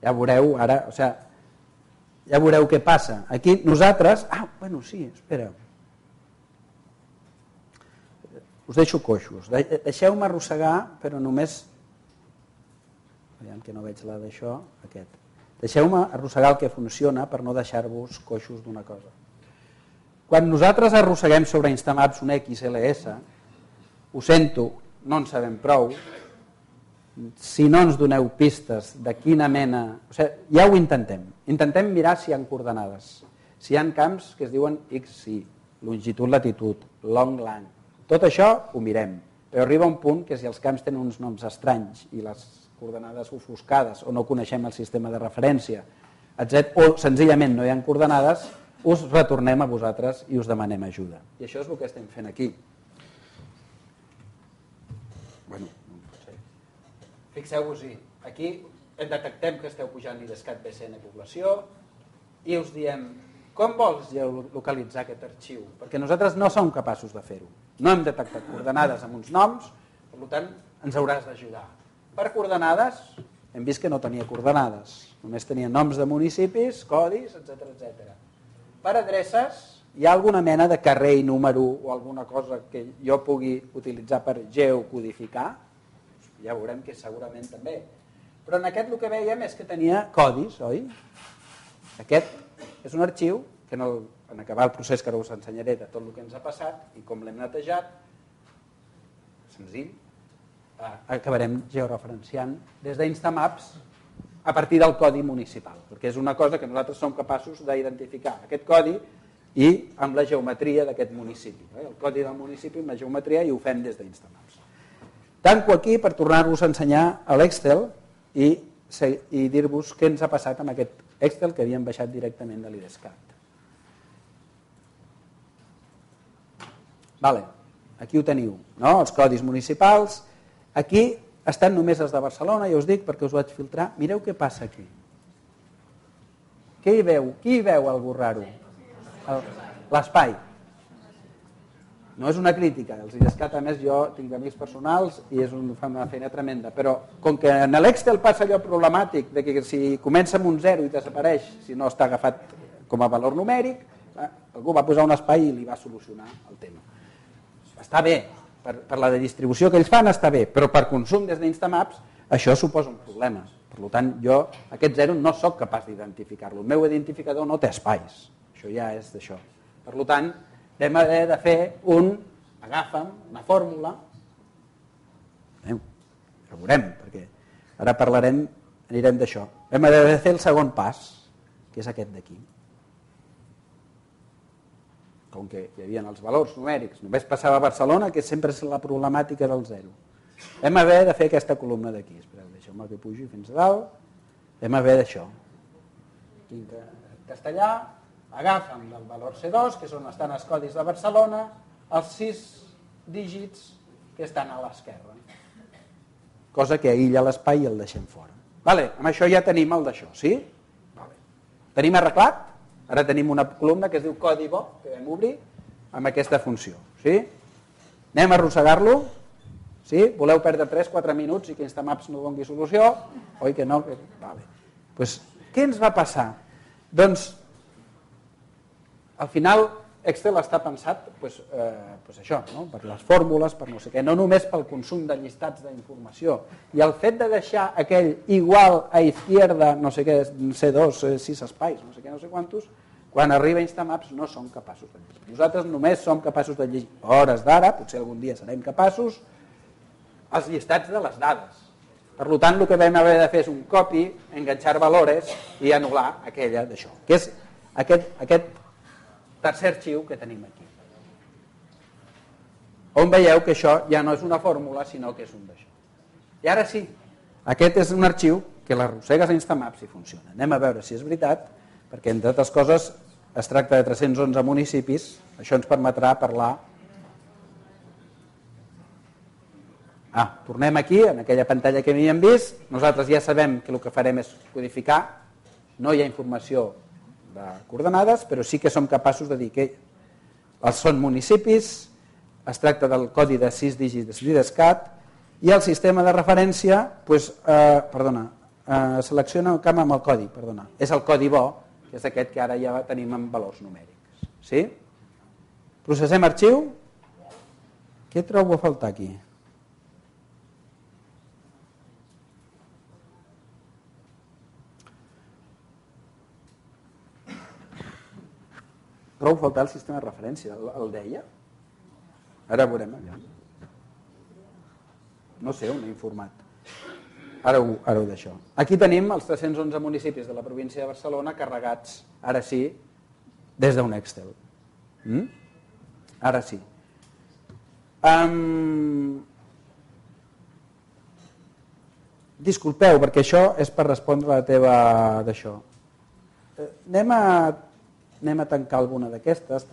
Ja veureu ara, ja veureu què passa. Aquí nosaltres... espera. Us deixo coixos. Deixeu-me arrossegar, però només... Aviam que no veig la d'això, aquest. Deixeu-me arrossegar el que funciona per no deixar-vos coixos d'una cosa. Quan nosaltres arrosseguem sobre Instamaps un XLS, ho sento, no en sabem prou, si no ens doneu pistes de quina mena... ja ho intentem. Intentem mirar si hi ha coordenades. Si hi ha camps que es diuen XY, longitud, latitud, long, lang. Tot això ho mirem, però arriba un punt que si els camps tenen uns noms estranys i les coordenades ofuscades o no coneixem el sistema de referència, etc., o senzillament no hi ha coordenades, us retornem a vosaltres i us demanem ajuda. I això és el que estem fent aquí. Fixeu-vos-hi, aquí detectem que esteu pujant l'IDESCAT BCN població i us diem com vols localitzar aquest arxiu? Perquè nosaltres no som capaços de fer-ho. No hem detectat coordenades amb uns noms, per tant ens hauràs d'ajudar. Per coordenades, hem vist que no tenia coordenades, només tenia noms de municipis, codis, etc. Per adreces, hi ha alguna mena de carrer i número o alguna cosa que jo pugui utilitzar per geocodificar? Ja veurem que segurament també. Però en aquest el que veiem és que tenia codis, oi? Aquest és un arxiu que en acabar el procés que ara us ensenyaré de tot el que ens ha passat i com l'hem netejat, senzill, acabarem georeferenciant des d'Instamaps a partir del codi municipal, perquè és una cosa que nosaltres som capaços d'identificar, aquest codi i amb la geometria d'aquest municipi, el codi del municipi amb la geometria, i ho fem des d'Instamaps. Tanco aquí per tornar-vos a ensenyar a l'Excel i dir-vos què ens ha passat amb aquest Excel que havíem baixat directament de l'IDESCAT. Vale, aquí ho teniu, no? Els codis municipals. Aquí estan només els de Barcelona, ja us dic, perquè us vaig filtrar. Mireu què passa aquí. Què hi veu? Qui hi veu algú raro? L'espai. No és una crítica, els IDESCAT, a més, jo tinc amics personals i fan una feina tremenda, però com que en l'Excel passa allò problemàtic de que si comença amb un 0 i desapareix, si no està agafat com a valor numèric, algú va posar un espai i li va solucionar el tema. Està bé, per la distribució que ells fan està bé, però per consum des d'Instamaps això suposa un problema. Per tant, jo aquest 0 no sóc capaç d'identificar-lo. El meu identificador no té espais. Això ja és d'això. Per tant, vam haver de fer una fórmula, ja ho veurem, perquè ara anirem d'això. Vam haver de fer el segon pas, que és aquest d'aquí. Com que hi havia els valors numèrics, només passava a Barcelona, que sempre és la problemàtica del 0. Vam haver de fer aquesta columna d'aquí. Espereu, deixeu-me que pugi fins a dalt. Vam haver d'això. Aquí en castellà, agafen el valor C2, que és on estan els codis de Barcelona, els 6 dígits que estan a l'esquerra. Cosa que aïlla l'espai i el deixem fora. Vale, amb això ja tenim el d'això, sí? Vale. Tenim arreglat? Ara tenim una columna que es diu codi bo, que vam obrir, amb aquesta funció. Sí? Anem a arrossegar-lo. Sí? Voleu perdre 3-4 minuts i que Instamaps no doni solució? Oi que no? Vale. Pues, què ens va passar? Doncs, al final, Excel està pensat això, no? Per les fórmules, per no sé què, no només pel consum de llistats d'informació. I el fet de deixar aquell igual a izquierda, no sé què, C2, 6 espais, no sé què, no sé quantos, quan arriba Instamaps no som capaços de llegir. Nosaltres només som capaços de llegir hores d'ara, potser algun dia serem capaços, els llistats de les dades. Per tant, el que vam haver de fer és un copy, enganxar valores i anul·lar aquella d'això, que és aquest tercer arxiu que tenim aquí. On veieu que això ja no és una fórmula, sinó que és un d'això. I ara sí, aquest és un arxiu que l'arrossegues a Instamaps i funciona. Anem a veure si és veritat, perquè entre altres coses es tracta de 311 municipis, això ens permetrà parlar. Tornem aquí, en aquella pantalla que havíem vist, nosaltres ja sabem que el que farem és codificar, no hi ha informació de coordenades, però sí que som capaços de dir que els són municipis, es tracta del codi de 6 dígits d'IDESCAT, i el sistema de referència selecciona el camp amb el codi, és el codi bo, que és aquest que ara ja tenim en valors numèrics. Sí? Processem arxiu. Què trobo a faltar aquí? Trobo a faltar el sistema de referència. El deia? Ara veurem allà. No sé on he informat. Ara ho deixo. Aquí tenim els 311 municipis de la província de Barcelona carregats, ara sí, des d'un Excel. Ara sí. Disculpeu, perquè això és per respondre a la teva d'això. Anem a tancar alguna d'aquestes,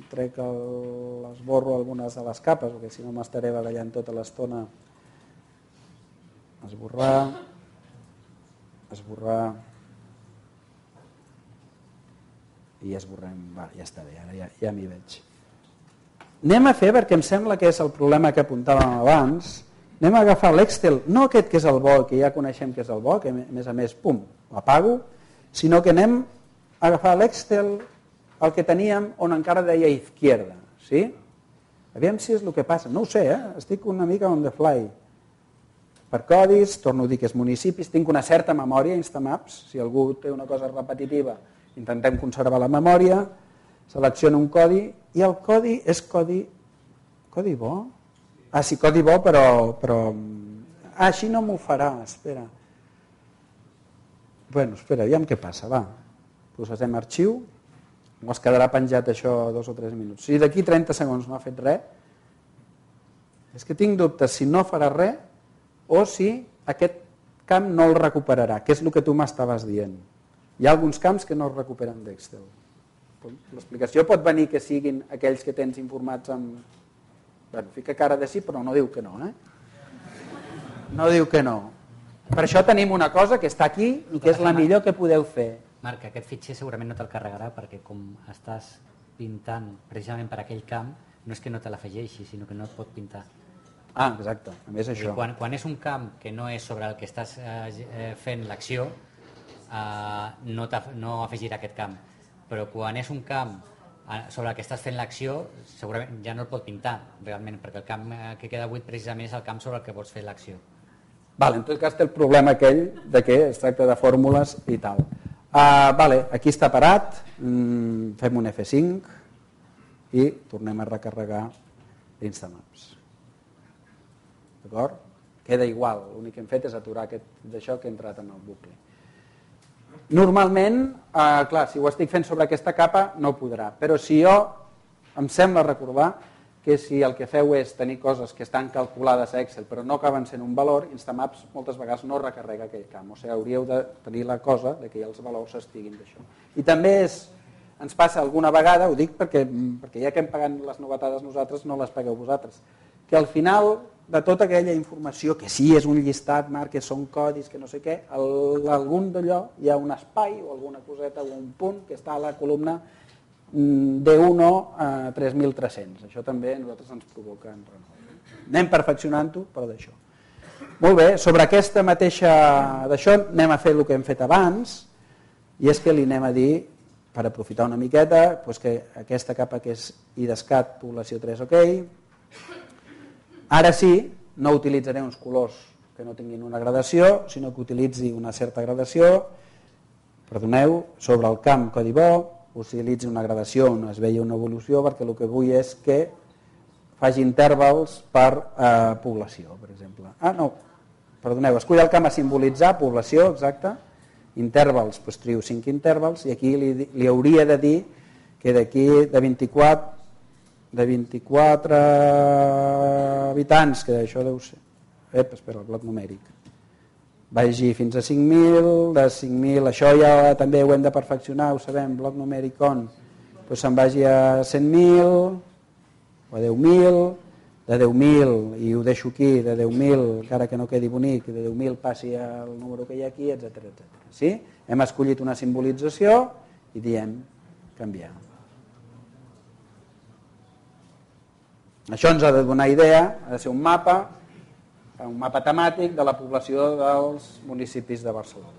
esborro algunes de les capes, perquè si no m'estaré barallant tota l'estona. Esborrar i esborrem, ja està bé, ara ja m'hi veig. Anem a fer, perquè em sembla que és el problema que apuntàvem abans, anem a agafar l'Excel, no aquest que és el bo, que ja coneixem que és el bo, que a més, pum, l'apago, sinó que anem a agafar l'Excel, el que teníem on encara deia izquierda, sí? Aviam si és el que passa, no ho sé, estic una mica on the fly. Per codis, torno a dir que és municipis, tinc una certa memòria, Instamaps, si algú té una cosa repetitiva, intentem conservar la memòria, selecciono un codi, i el codi és codi bo? Ah, sí, codi bo, però... Ah, així no m'ho farà, espera. Bueno, espera, aviam què passa, va. Processem arxiu, o es quedarà penjat això 2 o 3 minuts. Si d'aquí 30 segons no ha fet res, és que tinc dubtes si no farà res o si aquest camp no el recuperarà, que és el que tu m'estaves dient. Hi ha alguns camps que no es recuperen d'Excel. L'explicació pot venir que siguin aquells que tens informats amb... Bueno, fica cara de sí, però no diu que no, No diu que no. Per això tenim una cosa que està aquí i que és la millor que podeu fer. Marc, aquest fitxer segurament no te'l carregarà perquè com estàs pintant precisament per aquell camp, no és que no te l'afegeixi, sinó que no et pot pintar. Ah, exacte, a més això. Quan és un camp que no és sobre el que estàs fent l'acció, no afegirà aquest camp. Però quan és un camp sobre el que estàs fent l'acció, segurament ja no el pot pintar realment, perquè el camp que queda buit precisament és el camp sobre el que vols fer l'acció. En tot cas té el problema aquell de que es tracta de fórmules i tal. Aquí està parat, fem un F5 i tornem a recarregar l'Instamaps. D'acord? Queda igual, l'únic que hem fet és aturar d'això que ha entrat en el bucle. Normalment, clar, si ho estic fent sobre aquesta capa no podrà, però si jo em sembla recordar que si el que feu és tenir coses que estan calculades a Excel però no acaben sent un valor, Instamaps moltes vegades no recarrega aquell camp, o sigui, hauríeu de tenir la cosa de que els valors estiguin d'això. I també ens passa alguna vegada, ho dic perquè ja que hem pagat les novetades nosaltres, no les pagueu vosaltres, que al final de tota aquella informació, que sí és un llistat, Marc, que són codis, que no sé què, a algun d'allò hi ha un espai o alguna coseta o un punt que està a la columna D1 a 3.300. Això també a nosaltres ens provoca en renou. Anem perfeccionant-ho, però d'això. Molt bé, sobre aquesta mateixa d'això anem a fer el que hem fet abans, i és que li anem a dir, per aprofitar una miqueta, que aquesta capa que és IDESCAT, població 3, ok. Ara sí, no utilitzaré uns colors que no tinguin una gradació, sinó que utilitzi una certa gradació, perdoneu, sobre el camp codi bo, utilitzi una gradació on es veia una evolució, perquè el que vull és que faci intervals per població, per exemple. Perdoneu, escull el camp a simbolitzar, població, exacte, intervals, doncs trio 5 intervals, i aquí li hauria de dir que d'aquí de 24 habitants, que això deu ser... Espera, el bloc numèric. Vagi fins a 5.000, de 5.000, això ja també ho hem de perfeccionar, ho sabem, bloc numèric on, doncs se'n vagi a 100.000, o a 10.000, de 10.000, i ho deixo aquí, de 10.000, encara que no quedi bonic, de 10.000 passi al número que hi ha aquí, etc. Sí? Hem escollit una simbolització i diem canviar. Això ens ha de donar idea, ha de ser un mapa temàtic de la població dels municipis de Barcelona.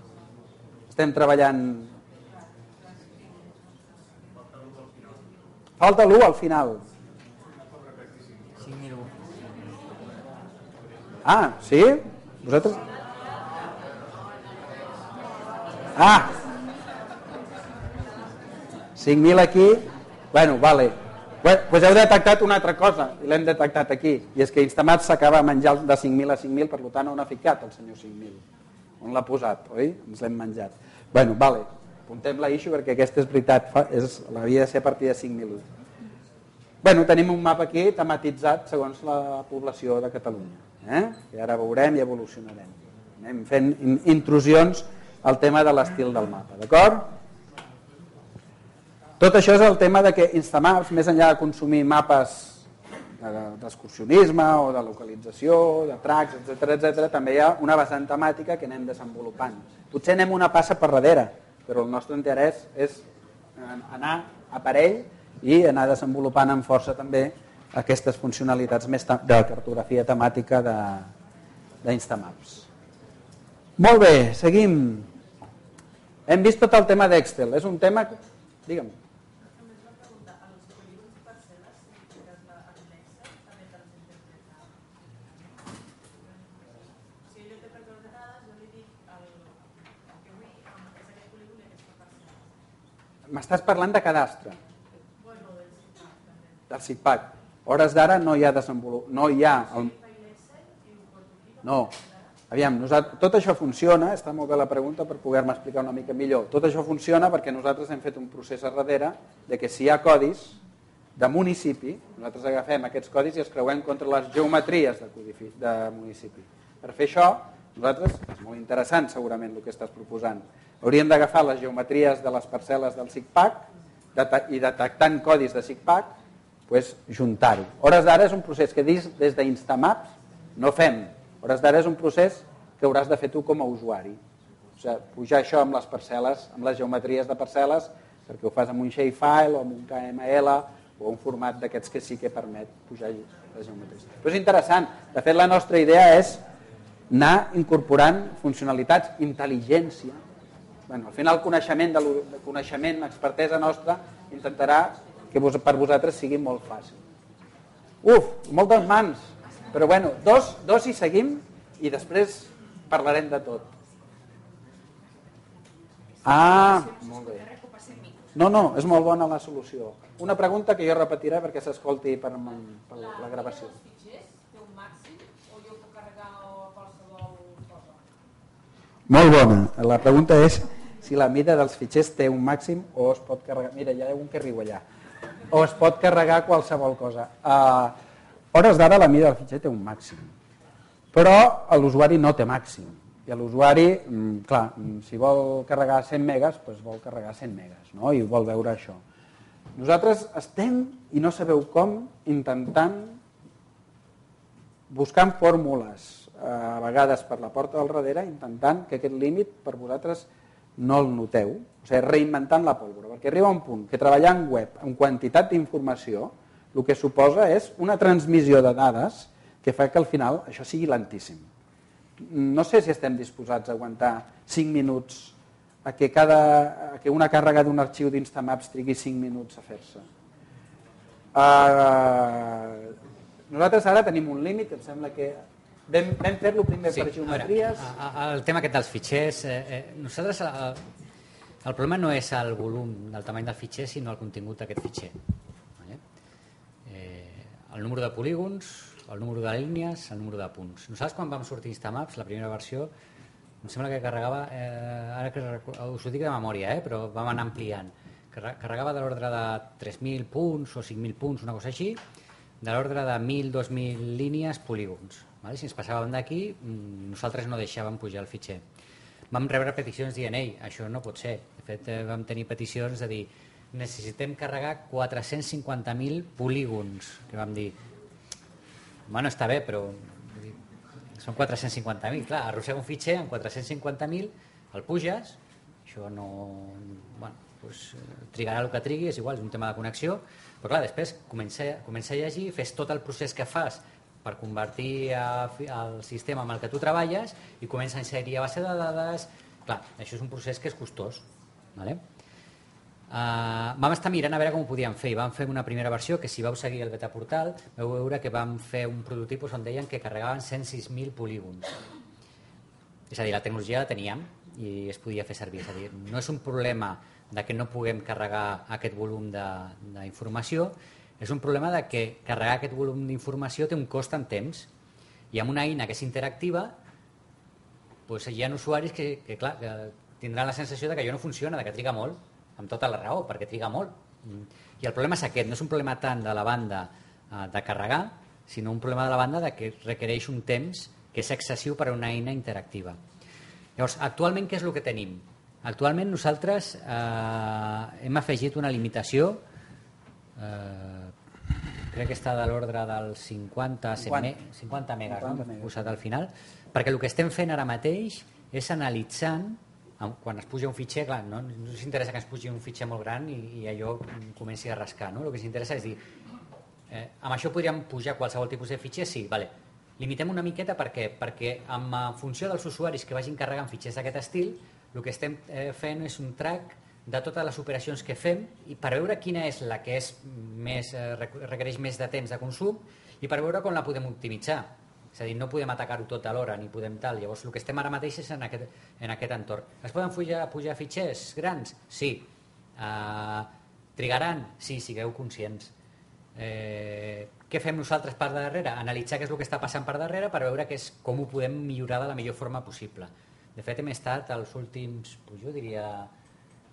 Estem treballant... Falta l'1 al final. 5.001. Ah, sí? Vosaltres? Ah! 5.000 aquí. Bueno, vale. Doncs heu detectat una altra cosa, i l'hem detectat aquí, i és que Instamaps s'acaba menjant de 5.000 a 5.000, per tant on ha ficat el senyor 5.000? On l'ha posat, oi? Ens l'hem menjat. Bueno, vale, apuntem la issue perquè aquesta és veritat, havia de ser a partir de 5.001. Bueno, tenim un mapa aquí tematitzat segons la població de Catalunya, i ara veurem i evolucionarem. Anem fent intrusions al tema de l'estil del mapa, d'acord? Tot això és el tema de que Instamaps, més enllà de consumir mapes d'excursionisme o de localització, de tracks, etc., també hi ha una vessant temàtica que anem desenvolupant. Potser anem una passa per darrere, però el nostre interès és anar a parell i anar desenvolupant amb força també aquestes funcionalitats més de cartografia temàtica d'Instamaps. Molt bé, seguim. Hem vist tot el tema d'Excel. És un tema... Digue'm. M'estàs parlant de cadastre. Del CICPAC. A hores d'ara no hi ha desenvolupat. No hi ha... No. Aviam, tot això funciona, està molt bé la pregunta per poder-me explicar una mica millor. Tot això funciona perquè nosaltres hem fet un procés a darrere de que si hi ha codis de municipi, nosaltres agafem aquests codis i els creuem contra les geometries de municipi. Per fer això, nosaltres, és molt interessant segurament el que estàs proposant, hauríem d'agafar les geometries de les parcel·les del CICPAC i detectant codis de CICPAC, juntar-ho. A hores d'ara és un procés que des d'Instamaps no fem. A hores d'ara és un procés que hauràs de fer tu com a usuari. O sigui, pujar això amb les parcel·les, amb les geometries de parcel·les, perquè ho fas amb un shapefile o amb un KML o un format d'aquests que sí que permet pujar les geometries. Però és interessant. De fet, la nostra idea és anar incorporant funcionalitats, intel·ligència. Al final, el coneixement, expertesa nostra, intentarà que per vosaltres sigui molt fàcil. Moltes mans. Però bueno, dos i seguim i després parlarem de tot. Molt bé. No, és molt bona la solució. Una pregunta que jo repetiré perquè s'escolti per la gravació. Molt bona. La pregunta és si la mida dels fitxers té un màxim o es pot carregar... Mira, hi ha un que riu allà. O es pot carregar qualsevol cosa. A hores d'ara la mida del fitxer té un màxim, però l'usuari no té màxim. I l'usuari, clar, si vol carregar 100 megas, doncs vol carregar 100 megas, no? I vol veure això. Nosaltres estem, i no sabeu com, intentant, buscant fórmules, a vegades per la porta del darrere, intentant que aquest límit per vosaltres no el noteu, o sigui, reinventant la pólvora, perquè arriba un punt que treballar en web amb quantitat d'informació el que suposa és una transmissió de dades que fa que al final això sigui lentíssim. No sé si estem disposats a aguantar 5 minuts a que una càrrega d'un arxiu d'Instamaps trigui 5 minuts a fer-se. Nosaltres ara tenim un límit, em sembla que vam fer-lo primer per geometries. El tema aquest dels fitxers, nosaltres el problema no és el volum del tamany del fitxer, sinó el contingut d'aquest fitxer. El número de polígons, el número de línies, el número de punts. Nosaltres quan vam sortir Instamaps, la primera versió, em sembla que carregava, ara que us ho dic de memòria, però vam anar ampliant, carregava de l'ordre de 3.000 punts o 5.000 punts, una cosa així, de l'ordre de 1.000, 2.000 línies, polígons. Si ens passàvem d'aquí, nosaltres no deixàvem pujar el fitxer. Vam rebre peticions dient, això no pot ser. De fet, vam tenir peticions de dir, necessitem carregar 450.000 polígons, que vam dir, està bé, però són 450.000, clar, arrossega un fitxer amb 450.000, el puges, això no... trigarà el que trigui, és igual, és un tema de connexió, però clar, després comença a llegir, fes tot el procés que fas per convertir el sistema amb el que tu treballes i comença a inserir a base de dades. Clar, això és un procés que és costós, vale? Vam estar mirant a veure com ho podíem fer i vam fer una primera versió que si vau seguir el beta portal vau veure que vam fer un prototipus on deien que carregaven 106.000 polígons, és a dir, la tecnologia la teníem i es podia fer servir, és a dir, no és un problema de que no puguem carregar aquest volum d'informació, és un problema de que carregar aquest volum d'informació té un cost en temps i amb una eina que és interactiva hi ha usuaris que tindran la sensació de que allò no funciona, de que triga molt, amb tota la raó, perquè triga molt. I el problema és aquest, no és un problema tant de la banda de carregar, sinó un problema de la banda de que requereix un temps que és excessiu per a una eina interactiva. Llavors, actualment què és el que tenim? Actualment nosaltres hem afegit una limitació, crec que està de l'ordre dels 50 megas, no? Posat al final, perquè el que estem fent ara mateix és analitzant, quan es puja un fitxer, clar, no ens interessa que ens pugi un fitxer molt gran i allò comenci a rascar, no? El que ens interessa és dir, amb això podríem pujar qualsevol tipus de fitxer, sí, vale. limitem una miqueta perquè en funció dels usuaris que vagin carregant fitxers d'aquest estil, el que estem fent és un track de totes les operacions que fem i per veure quina és la que requereix més de temps de consum i per veure com la podem optimitzar. És a dir, no podem atacar-ho tot alhora ni podem tal. Llavors el que estem ara mateix és en aquest entorn. Es poden pujar fitxers grans? Sí. Trigaran? Sí, sigueu conscients. Què fem nosaltres per darrere? Analitzar què és el que està passant per darrere per veure com ho podem millorar de la millor forma possible. De fet, hem estat els últims, jo diria,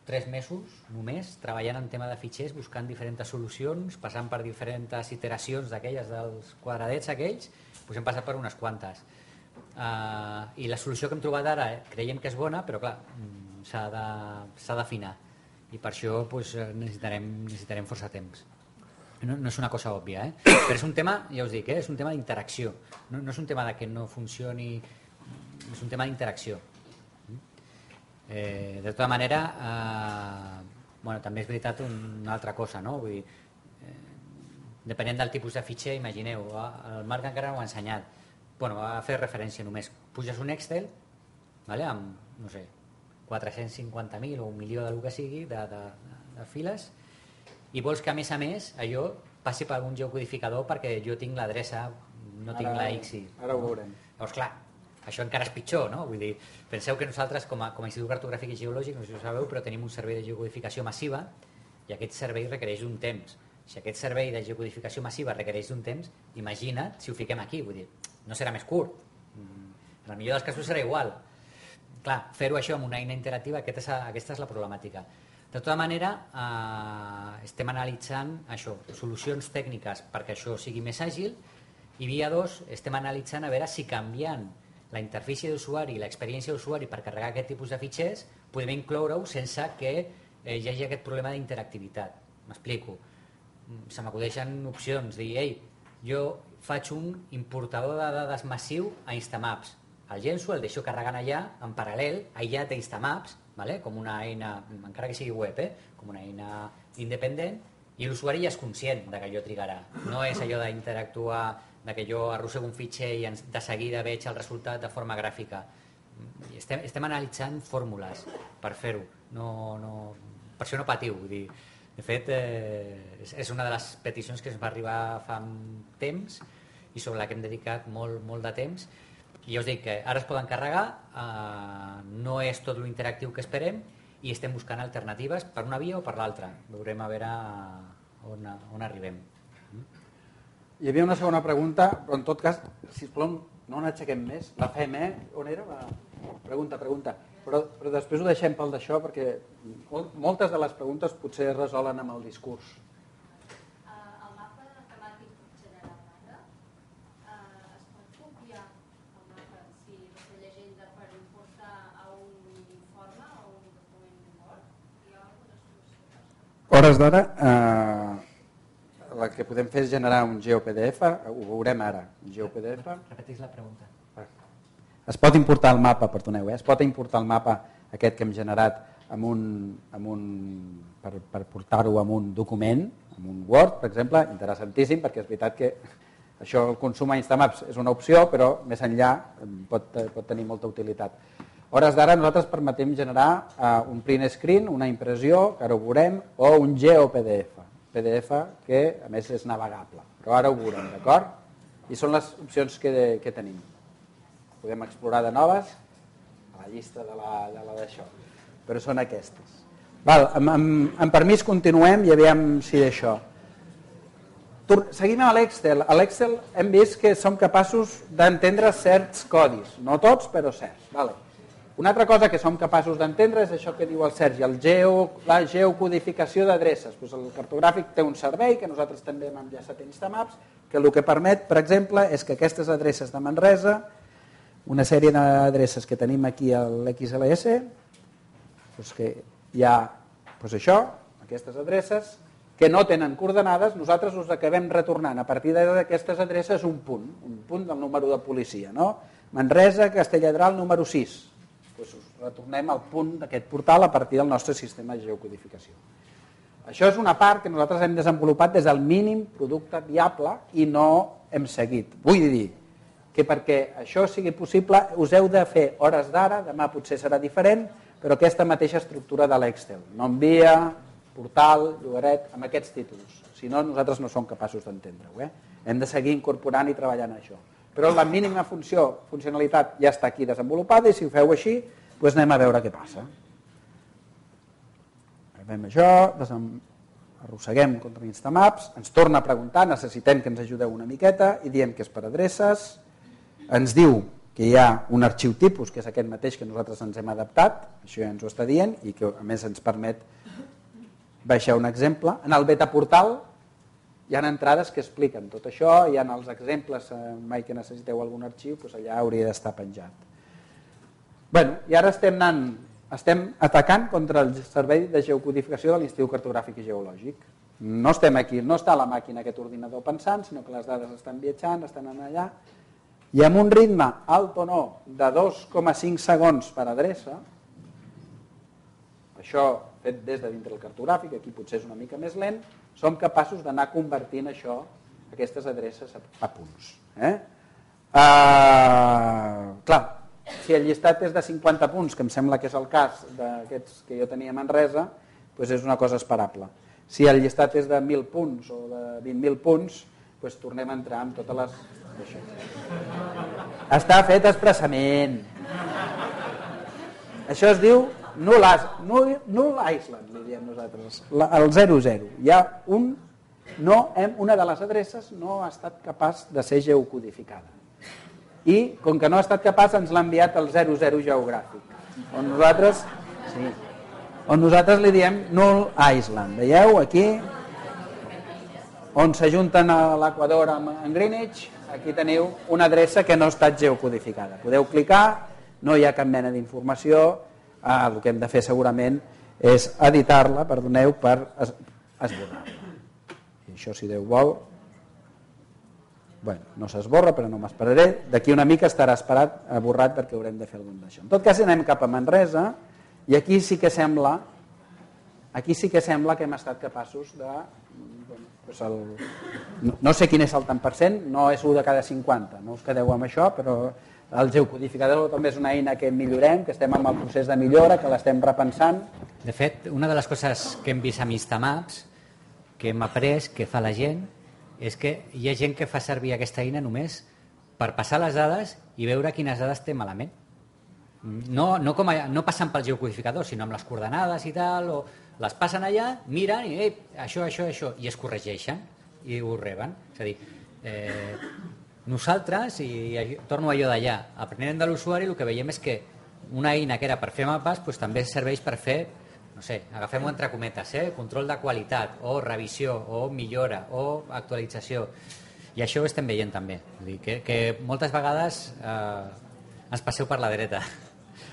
3 mesos només treballant en tema de fitxers, buscant diferents solucions, passant per diferents iteracions d'aquelles dels quadradets aquells, hem passat per unes quantes. I la solució que hem trobat ara creiem que és bona, però clar, s'ha d'afinar i per això necessitarem força temps. No és una cosa òbvia, però és un tema, ja us dic, és un tema d'interacció, no és un tema de que no funcioni, és un tema d'interacció. De tota manera, també és veritat una altra cosa, no? Vull dir, depenent del tipus de fitxer, imagineu, el Marc encara no ho ha ensenyat, ha fet referència només, puges un Excel amb, no sé, 450.000 o 1 milió del que sigui de files i vols que a més allò passi per un geocodificador perquè jo tinc l'adreça, no tinc la XI. Ara ho veurem. Llavors, clar, això encara és pitjor, no? Vull dir, penseu que nosaltres, com a Institut Cartogràfic i Geològic, no sé si ho sabeu, però tenim un servei de geocodificació massiva i aquest servei requereix un temps. Si aquest servei de geocodificació massiva requereix un temps, imagina't si ho fiquem aquí, vull dir, no serà més curt. En el millor dels casos serà igual. Clar, fer-ho això amb una eina interactiva, aquesta és la problemàtica. De tota manera, estem analitzant això, solucions tècniques perquè això sigui més àgil i via 2 estem analitzant a veure si canviant la interfície d'usuari i l'experiència d'usuari per carregar aquest tipus de fitxers podem incloure-ho sense que hi hagi aquest problema d'interactivitat. M'explico. Se m'acudeixen opcions, dir, jo faig un importador de dades massiu a Instamaps. El llenço, el deixo carregant allà, en paral·lel, aïllat d'Instamaps, com una eina, encara que sigui web, com una eina independent, i l'usuari ja és conscient que allò trigarà. No és allò d'interactuar, que jo arrossego un fitxer i de seguida veig el resultat de forma gràfica. Estem analitzant fórmules per fer-ho. Per això no patiu. De fet, és una de les peticions que ens va arribar fa temps i sobre la que hem dedicat molt de temps. I ja us dic que ara es poden carregar, no és tot l'interactiu que esperem i estem buscant alternatives per una via o per l'altra. Veurem a veure on arribem. Hi havia una segona pregunta, però en tot cas, sisplau, no n'aixequem més. La fem, On era? Pregunta. Però després ho deixem pel d'això perquè moltes de les preguntes potser es resolen amb el discurs. El mapa temàtic generat ara, es pot copiar el mapa si la llegenda per importar a un informe o un document Word? Hi ha alguna solució? Hores d'ara, el que podem fer és generar un GeoPDF, ho veurem ara. GeoPDF. Repeteix la pregunta. Es pot importar el mapa, perdoneu, es pot importar el mapa aquest que hem generat per portar-ho en un document, en un Word, per exemple, interessantíssim, perquè és veritat que això, el consum a Instamaps és una opció, però més enllà pot tenir molta utilitat. A hores d'ara nosaltres permetem generar un print screen, una impressió, que ara ho veurem, o un GeoPDF, PDF que a més és navegable, però ara ho veurem, d'acord? I són les opcions que tenim. Podem explorar de noves a la llista de la d'això, però són aquestes. Amb permís continuem i aviam si d'això. Seguim a l'Excel. A l'Excel hem vist que som capaços d'entendre certs codis, no tots, però certs. Una altra cosa que som capaços d'entendre és això que diu el Sergi, la geocodificació d'adreces. El cartogràfic té un servei que nosaltres també hem enllaçat a Instamaps, que el que permet, per exemple, és que aquestes adreces de Manresa, una sèrie d'adreces que tenim aquí a l'XLS, que hi ha això, aquestes adreces, que no tenen coordenades, nosaltres us acabem retornant a partir d'aquestes adreces un punt del número de policia. Manresa, Castelladral, número 6. Us retornem al punt d'aquest portal a partir del nostre sistema de geocodificació. Això és una part que nosaltres hem desenvolupat des del mínim producte viable i no hem seguit. Vull dir que perquè això sigui possible us heu de fer hores d'ara, demà potser serà diferent, però aquesta mateixa estructura de l'Excel. Nom via, portal, llogaret, amb aquests títols. Si no, nosaltres no som capaços d'entendre-ho. Hem de seguir incorporant i treballant això. Però la mínima funcionalitat ja està aquí desenvolupada i si ho feu així, doncs anem a veure què passa. Fem això, arrosseguem contra Instamaps, ens torna a preguntar, necessitem que ens ajudeu una miqueta i diem que és per adreces, ens diu que hi ha un arxiu tipus, que és aquest mateix que nosaltres ens hem adaptat, això ja ens ho està dient i que a més ens permet baixar un exemple. En el beta portal hi ha entrades que expliquen tot això, hi ha els exemples, mai que necessiteu algun arxiu, doncs allà hauria d'estar penjat. Bueno, i ara estem atacant contra el servei de geocodificació de l'Institut Cartogràfic i Geològic. No estem aquí, no està a la màquina aquest ordinador pensant, sinó que les dades estan viatjant, estan allà, i amb un ritme alt o no de 2,5 segons per adreça, això fet des de dintre del cartogràfic, aquí potser és una mica més lent, som capaços d'anar convertint això, aquestes adreces a punts. Clar, si el llistat és de 50 punts, que em sembla que és el cas d'aquests que jo tenia a Manresa, doncs és una cosa esperable. Si el llistat és de 1.000 punts o de 20.000 punts, doncs tornem a entrar amb totes les... Està fet expressament. Això es diu Null Island, li diem nosaltres, el 00. Hi ha una de les adreces no ha estat capaç de ser geocodificada. I, com que no ha estat capaç, ens l'ha enviat el 00 geogràfic, on nosaltres li diem Null Island. Veieu, aquí, on s'ajunten a l'Equador amb Greenwich, aquí teniu una adreça que no ha estat geocodificada. Podeu clicar, no hi ha cap mena d'informació, el que hem de fer segurament és editar-la, perdoneu, per esborrar-la. I això, si Déu vol, bueno, no s'esborra, però no m'esperaré. D'aquí una mica estarà borrat perquè haurem de fer algun d'això. En tot cas, anem cap a Manresa i aquí sí que sembla que hem estat capaços de... No sé quin és el tant per cent, no és 1 de cada 50, no us quedeu amb això, però el geocodificador també és una eina que millorem, que estem en el procés de millora, que l'estem repensant. De fet, una de les coses que hem vist amb Instamaps, que hem après, que fa la gent, és que hi ha gent que fa servir aquesta eina només per passar les dades i veure quines dades té malament. No passant pel geocodificador, sinó amb les coordenades i tal, o les passen allà, miren i això, i es corregeixen i ho reben. És a dir, nosaltres, i torno a allò d'allà, aprenent de l'usuari, el que veiem és que una eina que era per fer mapes també serveix per fer, no sé, agafem-ho entre cometes, control de qualitat, o revisió, o millora, o actualització. I això ho estem veient també. És a dir, que moltes vegades ens passeu per la dreta.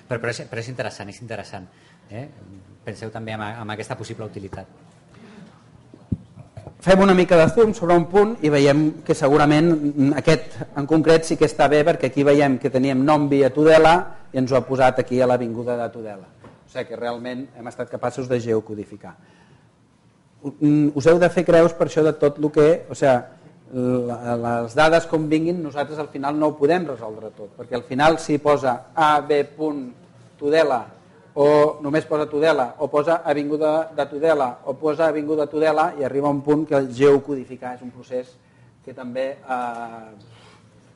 Però és interessant, és interessant. Penseu també en aquesta possible utilitat. Fem una mica de zoom sobre un punt i veiem que segurament aquest en concret sí que està bé, perquè aquí veiem que teníem nom via Tudela i ens ho ha posat aquí a l'avinguda de Tudela. O sigui que realment hem estat capaços de geocodificar. Us heu de fer creus per això de tot el que... O sigui, les dades com vinguin, nosaltres al final no ho podem resoldre tot, perquè al final si posa ab.tudela o només posa Tudela, o posa avinguda de Tudela, o posa avinguda Tudela, i arriba un punt que el geocodificar és un procés que també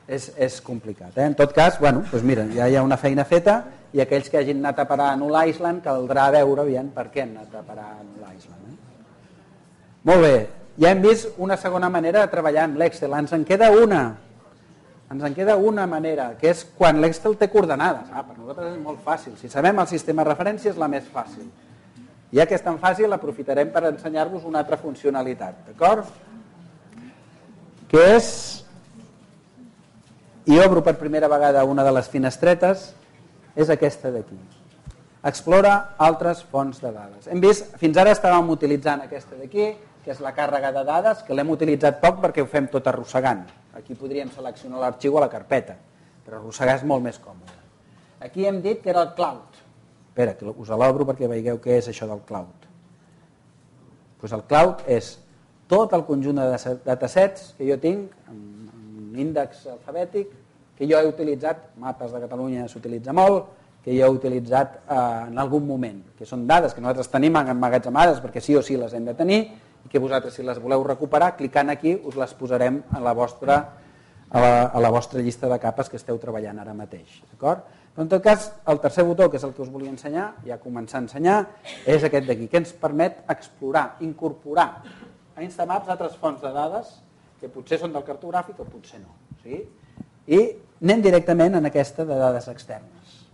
és complicat. En tot cas, bueno, doncs mira, ja hi ha una feina feta, i aquells que hagin anat a parar a Null Island caldrà veure per què han anat a parar a Null Island. Molt bé, ja hem vist una segona manera de treballar amb l'Excel. Ens en queda una manera, que és quan l'Excel té coordenades. Per nosaltres és molt fàcil. Si sabem el sistema de referència és la més fàcil. Ja que és tan fàcil, aprofitarem per ensenyar-vos una altra funcionalitat. D'acord? Que és... I obro per primera vegada una de les finestretes, és aquesta d'aquí. Explora altres fonts de dades. Hem vist, fins ara estàvem utilitzant aquesta d'aquí, que és la càrrega de dades, que l'hem utilitzat poc perquè ho fem tot arrossegant. Aquí podríem seleccionar l'arxiu a la carpeta, però arrossegar és molt més còmode. Aquí hem dit que era el cloud. Espera, que us l'obro perquè veieu què és això del cloud. Pues el cloud és tot el conjunt de datasets que jo tinc, amb un índex alfabètic, que jo he utilitzat, mapes de Catalunya s'utilitza molt, que jo he utilitzat en algun moment, que són dades que nosaltres tenim emmagatzemades perquè sí o sí les hem de tenir i que vosaltres, si les voleu recuperar, clicant aquí us les posarem a la vostra llista de capes que esteu treballant ara mateix. D'acord? Però en tot cas, el tercer botó, que és el que us volia ensenyar, ja començar a ensenyar, és aquest d'aquí, que ens permet explorar, incorporar a Instamaps altres fonts de dades que potser són del cartogràfic o potser no. Sí? I anem directament en aquesta de dades externes.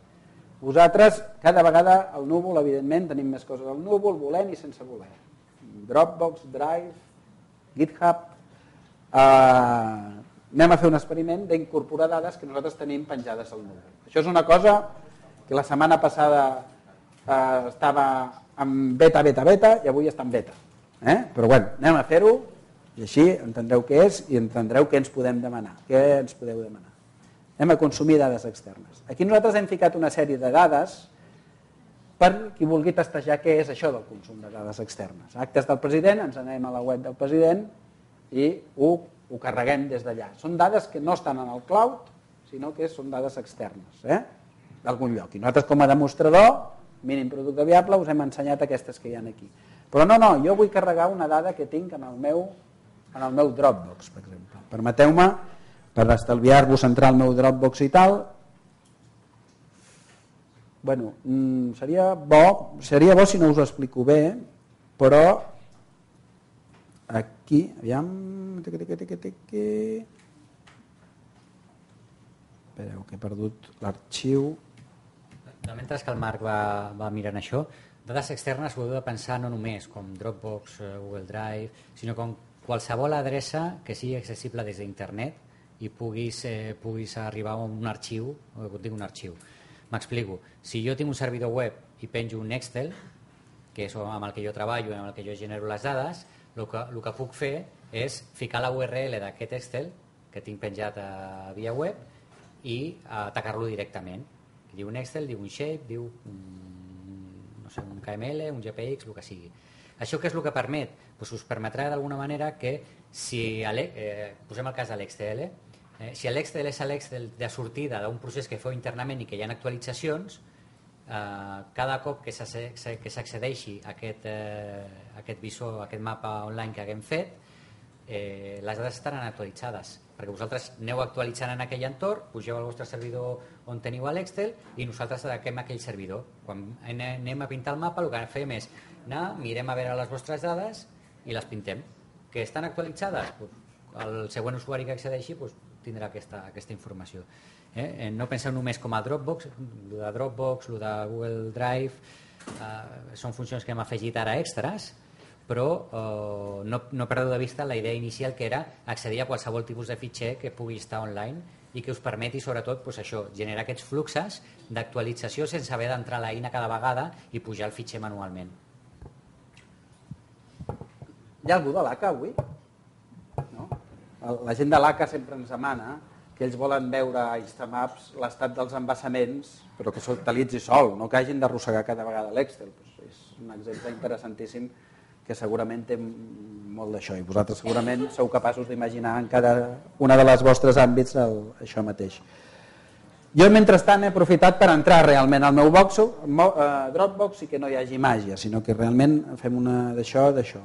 Vosaltres, cada vegada al núvol, evidentment, tenim més coses al núvol, volent i sense voler. Dropbox, Drive, GitHub. Anem a fer un experiment d'incorporar dades que nosaltres tenim penjades al núvol. Això és una cosa que la setmana passada estava en beta i avui està en beta. Però bueno, anem a fer-ho i així entendreu què és i entendreu què ens podem demanar. Què ens podeu demanar? Anem a consumir dades externes. Aquí nosaltres hem ficat una sèrie de dades per qui vulgui testejar què és això del consum de dades externes. Actes del president, ens anem a la web del president i ho carreguem des d'allà. Són dades que no estan en el cloud, sinó que són dades externes, d'algun lloc. I nosaltres com a demostrador, mínim producte viable, us hem ensenyat aquestes que hi ha aquí. Però no, jo vull carregar una dada que tinc en el meu Dropbox, per exemple. Permeteu-me, per estalviar-vos entrar al meu Dropbox i tal, bueno, seria bo si no us ho explico bé, però aquí, aviam, espereu que he perdut l'arxiu. Mentre que el Marc va mirant això, dades externes ho heu de pensar no només com Dropbox, Google Drive, sinó com qualsevol adreça que sigui accessible des d'internet i puguis arribar a un arxiu, m'explico, si jo tinc un servidor web i penjo un Excel, que és amb el que jo treballo, amb el que jo genero les dades, el que puc fer és ficar la URL d'aquest Excel que tinc penjat via web i atacar-lo directament. Diu un Excel, diu un shape, diu un KML, un GPX, el que sigui. Això què és el que permet? Doncs us permetrà d'alguna manera que si posem el cas de l'Excel, si l'Excel és l'Excel de sortida d'un procés que feu internament i que hi ha actualitzacions, cada cop que s'accedeixi a aquest visor, a aquest mapa online que haguem fet, les dades estaran actualitzades, perquè vosaltres aneu actualitzant en aquell entorn, pugeu al vostre servidor on teniu l'Excel i nosaltres ataquem aquell servidor. Quan anem a pintar el mapa, el que fem és anar, mirem a veure les vostres dades i les pintem. Que estan actualitzades? El següent usuari que accedeixi tindrà aquesta informació. No penseu només com a Dropbox, el de Dropbox, el de Google Drive, són funcions que hem afegit ara extras, però no perdeu de vista la idea inicial que era accedir a qualsevol tipus de fitxer que pugui estar online i que us permeti sobretot generar aquests fluxes d'actualització sense haver d'entrar a l'eina cada vegada i pujar el fitxer manualment. Hi ha algú de l'ACA avui? No? La gent de l'ACA sempre ens demana que ells volen veure a Instamaps l'estat dels embassaments, però que s'actualitzi sol, no que hagin d'arrossegar cada vegada l'Excel. És un exemple interessantíssim que segurament té molt d'això i vosaltres segurament sou capaços d'imaginar en cada una de les vostres àmbits això mateix. Jo mentrestant he aprofitat per entrar realment al meu Dropbox i que no hi hagi màgia, sinó que realment fem una d'això.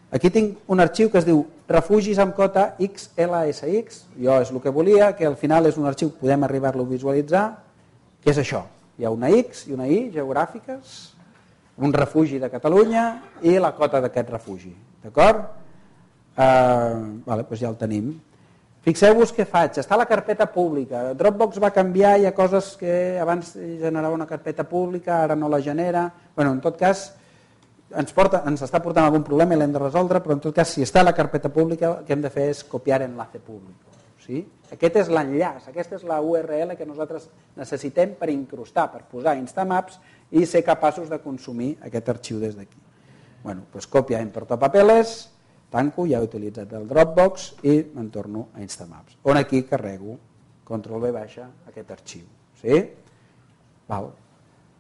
Aquí tinc un arxiu que es diu refugis amb cota XLSX, jo és el que volia, que al final és un arxiu, podem arribar-lo a visualitzar, que és això, hi ha una X i una Y geogràfiques, un refugi de Catalunya i la cota d'aquest refugi, d'acord? Doncs ja el tenim. Fixeu-vos què faig, està a la carpeta pública, Dropbox va canviar, hi ha coses que abans generava una carpeta pública, ara no la genera, en tot cas ens està portant algun problema i l'hem de resoldre, però en tot cas si està a la carpeta pública el que hem de fer és copiar enlace públic. Sí? Aquest és l'enllaç, aquesta és la URL que nosaltres necessitem per incrustar, per posar Instamaps i ser capaços de consumir aquest arxiu des d'aquí. Còpia en portapapeles, tanco, ja he utilitzat el Dropbox i me'n torno a Instamaps, on aquí carrego, control V baixa, aquest arxiu. Sí? Val.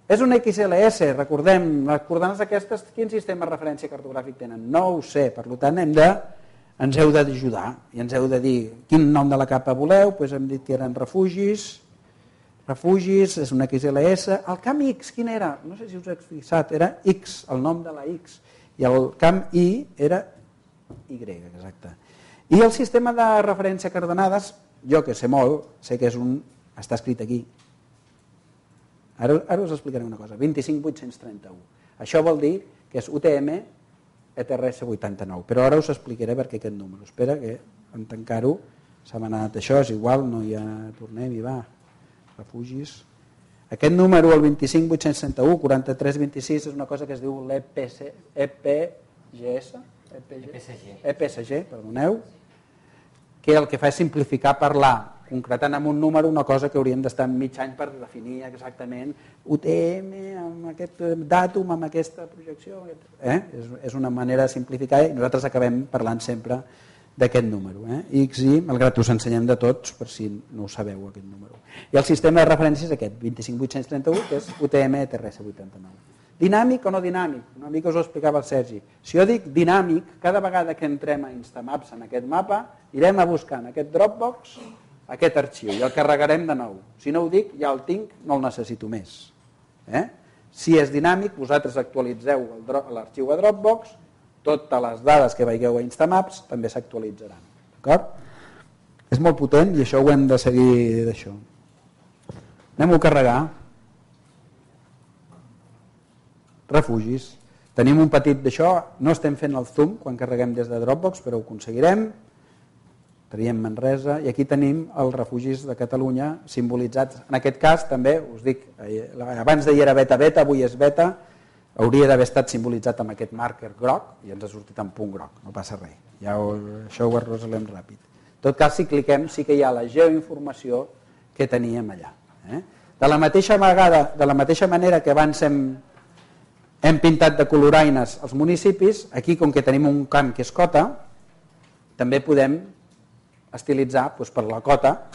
És un XLS, recordem, les coordenades aquestes, quin sistema de referència cartogràfic tenen? No ho sé, per tant hem de ens heu d'ajudar i ens heu de dir quin nom de la capa voleu. Doncs hem dit que eren refugis, és una XLS. El camp X, quin era? No sé si us heu fixat, era X, el nom de la X, i el camp Y era Y, exacte. I el sistema de referència a coordenades, jo que sé molt, sé que està escrit aquí. Ara us explicaré una cosa, 25831. Això vol dir que és UTM ETRS 89, però ara us explicaré per què aquest número. Espera que en tancar-ho s'ha anat això, és igual, no hi ha... Tornem i va, refugis. Aquest número, el 25861, 4326, és una cosa que es diu l'EPSG, perdoneu, que el que fa és simplificar parlar, concretant en un número una cosa que hauríem d'estar mig any per definir exactament UTM, amb aquest dàtum, amb aquesta projecció. És una manera de simplificar i nosaltres acabem parlant sempre d'aquest número. X, Y, malgrat us ensenyem de tots, per si no ho sabeu, aquest número. I el sistema de referència és aquest, 25831, que és UTM ETRS 89. Dinàmic o no dinàmic? Una mica us ho explicava el Sergi. Si jo dic dinàmic, cada vegada que entrem a Instamaps en aquest mapa, irem a buscar en aquest Dropbox aquest arxiu i el carregarem de nou. Si no ho dic, ja el tinc, no el necessito més. Si és dinàmic, vosaltres actualitzeu l'arxiu a Dropbox, totes les dades que veieu a Instamaps també s'actualitzaran. D'acord? És molt potent i això ho hem de seguir d'això. Anem-ho a carregar. Refugis. Tenim un petit d'això, no estem fent el zoom quan carreguem des de Dropbox, però ho aconseguirem. Traiem Manresa i aquí tenim els refugis de Catalunya simbolitzats. En aquest cas també, us dic, abans d'ahir era beta, avui és beta, hauria d'haver estat simbolitzat amb aquest marker groc i ens ha sortit en punt groc, no passa res. Això ho arrosalem ràpid. En tot cas, si cliquem, sí que hi ha la geoinformació que teníem allà. De la mateixa manera que abans hem pintat de coloraines els municipis, aquí com que tenim un camp que és cota, també podem estilitzar per la cota,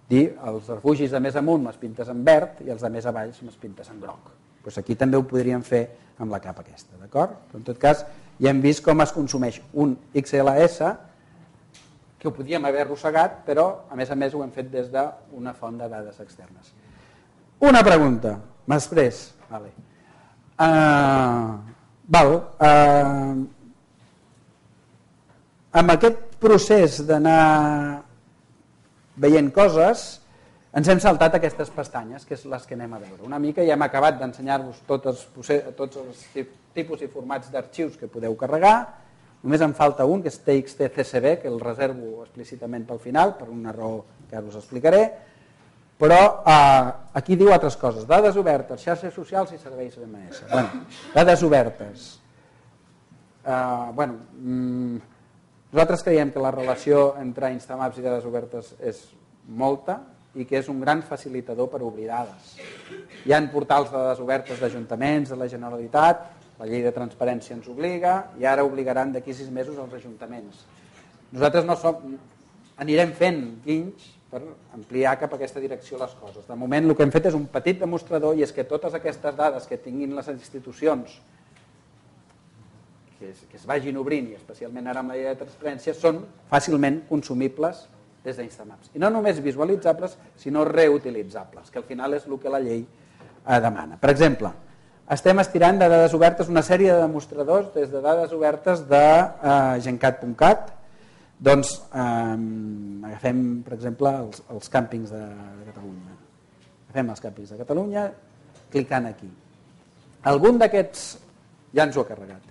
dir els refugis de més amunt me'ls pintes en verd i els de més avall me'ls pintes en groc. Aquí també ho podríem fer amb la capa aquesta, d'acord? Però en tot cas ja hem vist com es consumeix un XLS que ho podíem haver arrossegat, però a més ho hem fet des d'una font de dades externes. Una pregunta, m'exprés. Amb aquest procés d'anar veient coses ens hem saltat aquestes pestanyes, que és les que anem a veure. Una mica ja hem acabat d'ensenyar-vos tots els tipus i formats d'arxius que podeu carregar. Només em falta un, que és TXT-CSV, que el reservo explícitament pel final, per una raó que ara us explicaré. Però aquí diu altres coses. Dades obertes, xarxes socials i serveis DMS. Dades obertes. Nosaltres creiem que la relació entre Instamaps i dades obertes és molta i que és un gran facilitador per obrir dades. Hi ha portals de dades obertes d'ajuntaments, de la Generalitat, la llei de transparència ens obliga i ara obligaran d'aquí 6 mesos els ajuntaments. Nosaltres anirem fent guinys per ampliar cap a aquesta direcció les coses. De moment el que hem fet és un petit demostrador i és que totes aquestes dades que tinguin les institucions que es vagin obrint i especialment ara amb la llei de transparència són fàcilment consumibles des d'Instamaps. I no només visualitzables, sinó reutilitzables, que al final és el que la llei demana. Per exemple, estem estirant de dades obertes una sèrie de demostradors des de dades obertes de gencat.cat. Doncs agafem, per exemple, els càmpings de Catalunya. Agafem els càmpings de Catalunya clicant aquí. Algun d'aquests, ja ens ho ha carregat,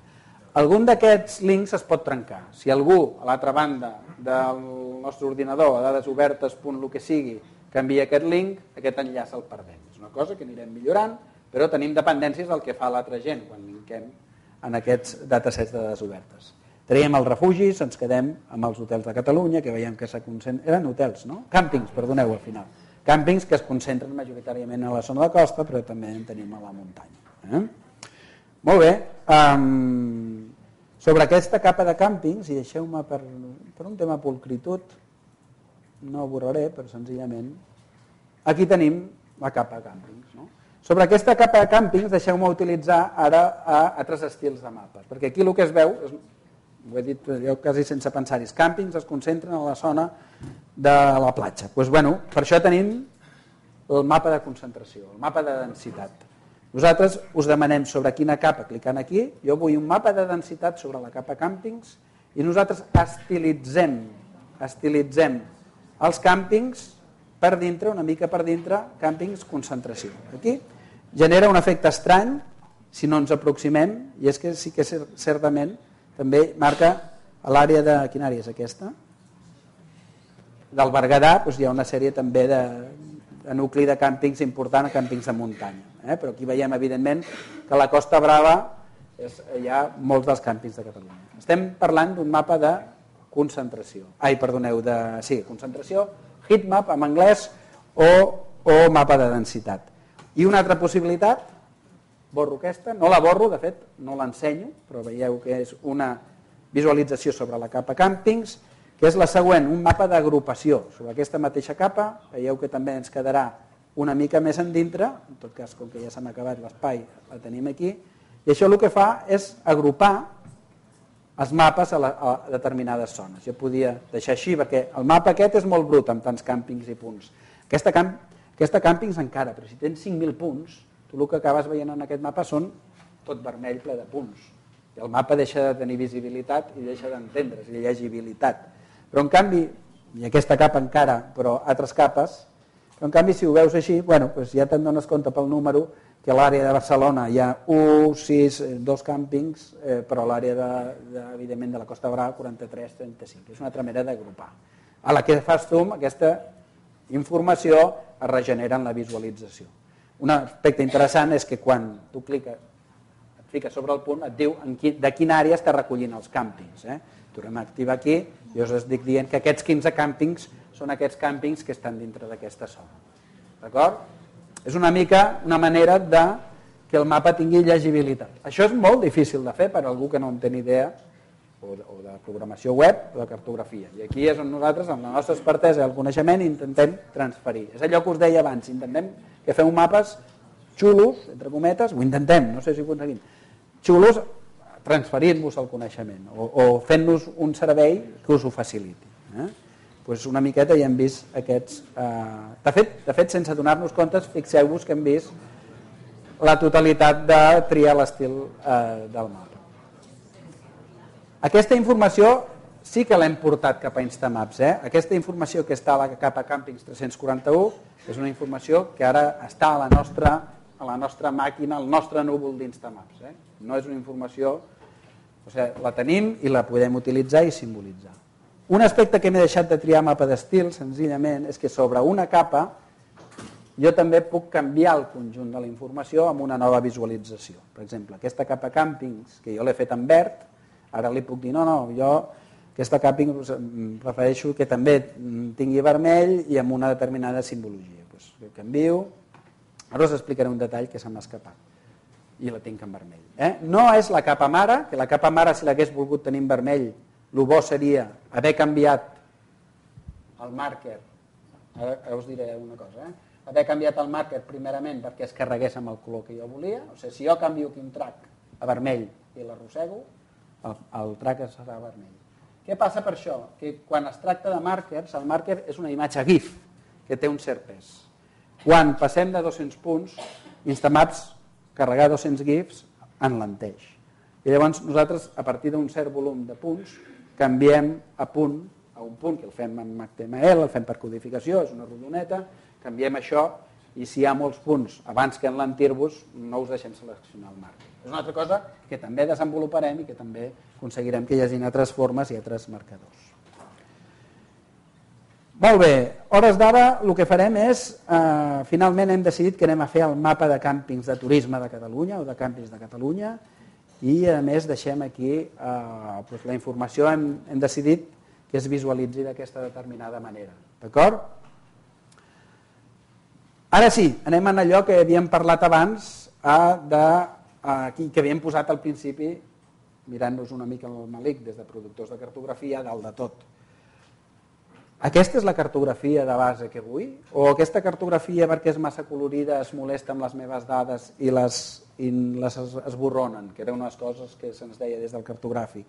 algun d'aquests links es pot trencar. Si algú a l'altra banda del nostre ordinador a dadesobertes.lo que sigui canvia aquest link, aquest enllaç el perdem. És una cosa que anirem millorant, però tenim dependències del que fa l'altra gent quan linkem en aquests datasets de dades obertes. Traiem els refugis, ens quedem amb els hotels de Catalunya, que veiem que s'ha concentrat... Eren hotels, no? Càmpings, perdoneu, al final. Càmpings que es concentren majoritàriament a la zona de costa, però també en tenim a la muntanya. Molt bé. Sobre aquesta capa de càmpings, i deixeu-me per un tema pulcritud, no ho borraré, però senzillament, aquí tenim la capa de càmpings. No? Sobre aquesta capa de càmpings, deixeu-me utilitzar ara altres estils de mapes, perquè aquí el que es veu és ho he dit jo quasi sense pensar-hi, els càmpings es concentren a la zona de la platja. Doncs, per això tenim el mapa de concentració, el mapa de densitat. Nosaltres us demanem sobre quina capa, clicant aquí, jo vull un mapa de densitat sobre la capa càmpings i nosaltres estilitzem els càmpings per dintre, una mica per dintre, càmpings concentració. Aquí genera un efecte estrany si no ens aproximem, i és que sí que certament també marca l'àrea de... Quina àrea és aquesta? Del Berguedà, doncs hi ha una sèrie també de nucli de càmpings important, càmpings de muntanya. Però aquí veiem evidentment que a la Costa Brava hi ha molts dels càmpings de Catalunya. Estem parlant d'un mapa de concentració. Concentració, heatmap en anglès o mapa de densitat. I una altra possibilitat, borro aquesta, no la borro, de fet no l'ensenyo, però veieu que és una visualització sobre la capa càmpings, que és la següent, un mapa d'agrupació. Sobre aquesta mateixa capa, veieu que també ens quedarà una mica més endintre, en tot cas, com que ja s'ha acabat l'espai, la tenim aquí, i això el que fa és agrupar els mapes a determinades zones. Jo podia deixar així, perquè el mapa aquest és molt brut, amb tants càmpings i punts. Aquesta càmpings encara, però si tens 5.000 punts, tu el que acabes veient en aquest mapa són tot vermell ple de punts. I el mapa deixa de tenir visibilitat i deixa d'entendre's, i llegibilitat. Però en canvi, i aquesta capa encara, però altres capes, però en canvi si ho veus així, doncs ja te'n dones compte pel número que a l'àrea de Barcelona hi ha 1, 6, 2 càmpings, però a l'àrea evidentment de la Costa Brava 43, 35. És una altra manera d'agrupar. A la que fas zoom, aquesta informació es regenera en la visualització. Un aspecte interessant és que quan tu et fiques sobre el punt, et diu de quina àrea està recollint els càmpings. Tornem a activar aquí i us estic dient que aquests 15 càmpings són aquests càmpings que estan dintre d'aquesta zona. D'acord? És una mica una manera que el mapa tingui llegibilitat. Això és molt difícil de fer per a algú que no en té ni idea o de programació web o de cartografia. I aquí és on nosaltres, amb la nostra expertesa i el coneixement, intentem transferir. És allò que us deia abans, intentem que feu mapes xulos, entre cometes, ho intentem, no sé si ho aconseguim, xulos transferint-vos el coneixement o fent-nos un servei que us ho faciliti. Doncs una miqueta ja hem vist aquests... De fet, sense donar-nos comptes, fixeu-vos que hem vist la totalitat de triar l'estil del mapa. Aquesta informació sí que l'hem portat cap a Instamaps. Aquesta informació que està a la capa Càmpings 341 és una informació que ara està a la nostra màquina, al nostre núvol d'Instamaps. No és una informació... La tenim i la podem utilitzar i simbolitzar. Un aspecte que m'he deixat de triar mapa d'estil, senzillament, és que sobre una capa jo també puc canviar el conjunt de la informació amb una nova visualització. Per exemple, aquesta capa càmpings, que jo l'he fet en verd, ara li puc dir, jo aquesta càmping prefereixo que també tingui vermell i amb una determinada simbologia. Doncs canvio, ara us explicaré un detall que se m'ha escapat i la tinc en vermell. No és la capa mare, que la capa mare si l'hagués volgut tenir en vermell, el bo seria haver canviat el màrquer, ara us diré una cosa, haver canviat el màrquer primerament perquè es carregués amb el color que jo volia, si jo canvio aquí un track a vermell i l'arrossego, el track serà vermell. Què passa per això? Que quan es tracta de màrquers, el màrquer és una imatge GIF que té un cert pes. Quan passem de 200 punts, Instamaps carregar 200 GIFs enlenteix. I llavors nosaltres, a partir d'un cert volum de punts, canviem a un punt, que el fem en HTML, el fem per codificació, és una rodoneta, canviem això i si hi ha molts punts abans que enlentir-vos, no us deixem seleccionar el màrquer. És una altra cosa que també desenvoluparem i que també aconseguirem que hi hagi altres formes i altres marcadors. Molt bé, hores d'ara el que farem és, finalment hem decidit que anem a fer el mapa de càmpings de turisme de Catalunya o de càmpings de Catalunya i a més deixem aquí la informació, hem decidit que es visualitzi d'aquesta determinada manera. D'acord? Ara sí, anem a allò que havíem parlat abans, que havíem posat al principi, mirant-nos una mica el malic des de productors de cartografia, dalt de tot. Aquesta és la cartografia de base que vull? O aquesta cartografia perquè és massa colorida es molesta amb les meves dades i les esborronen, que era una de les coses que se'ns deia des del cartogràfic.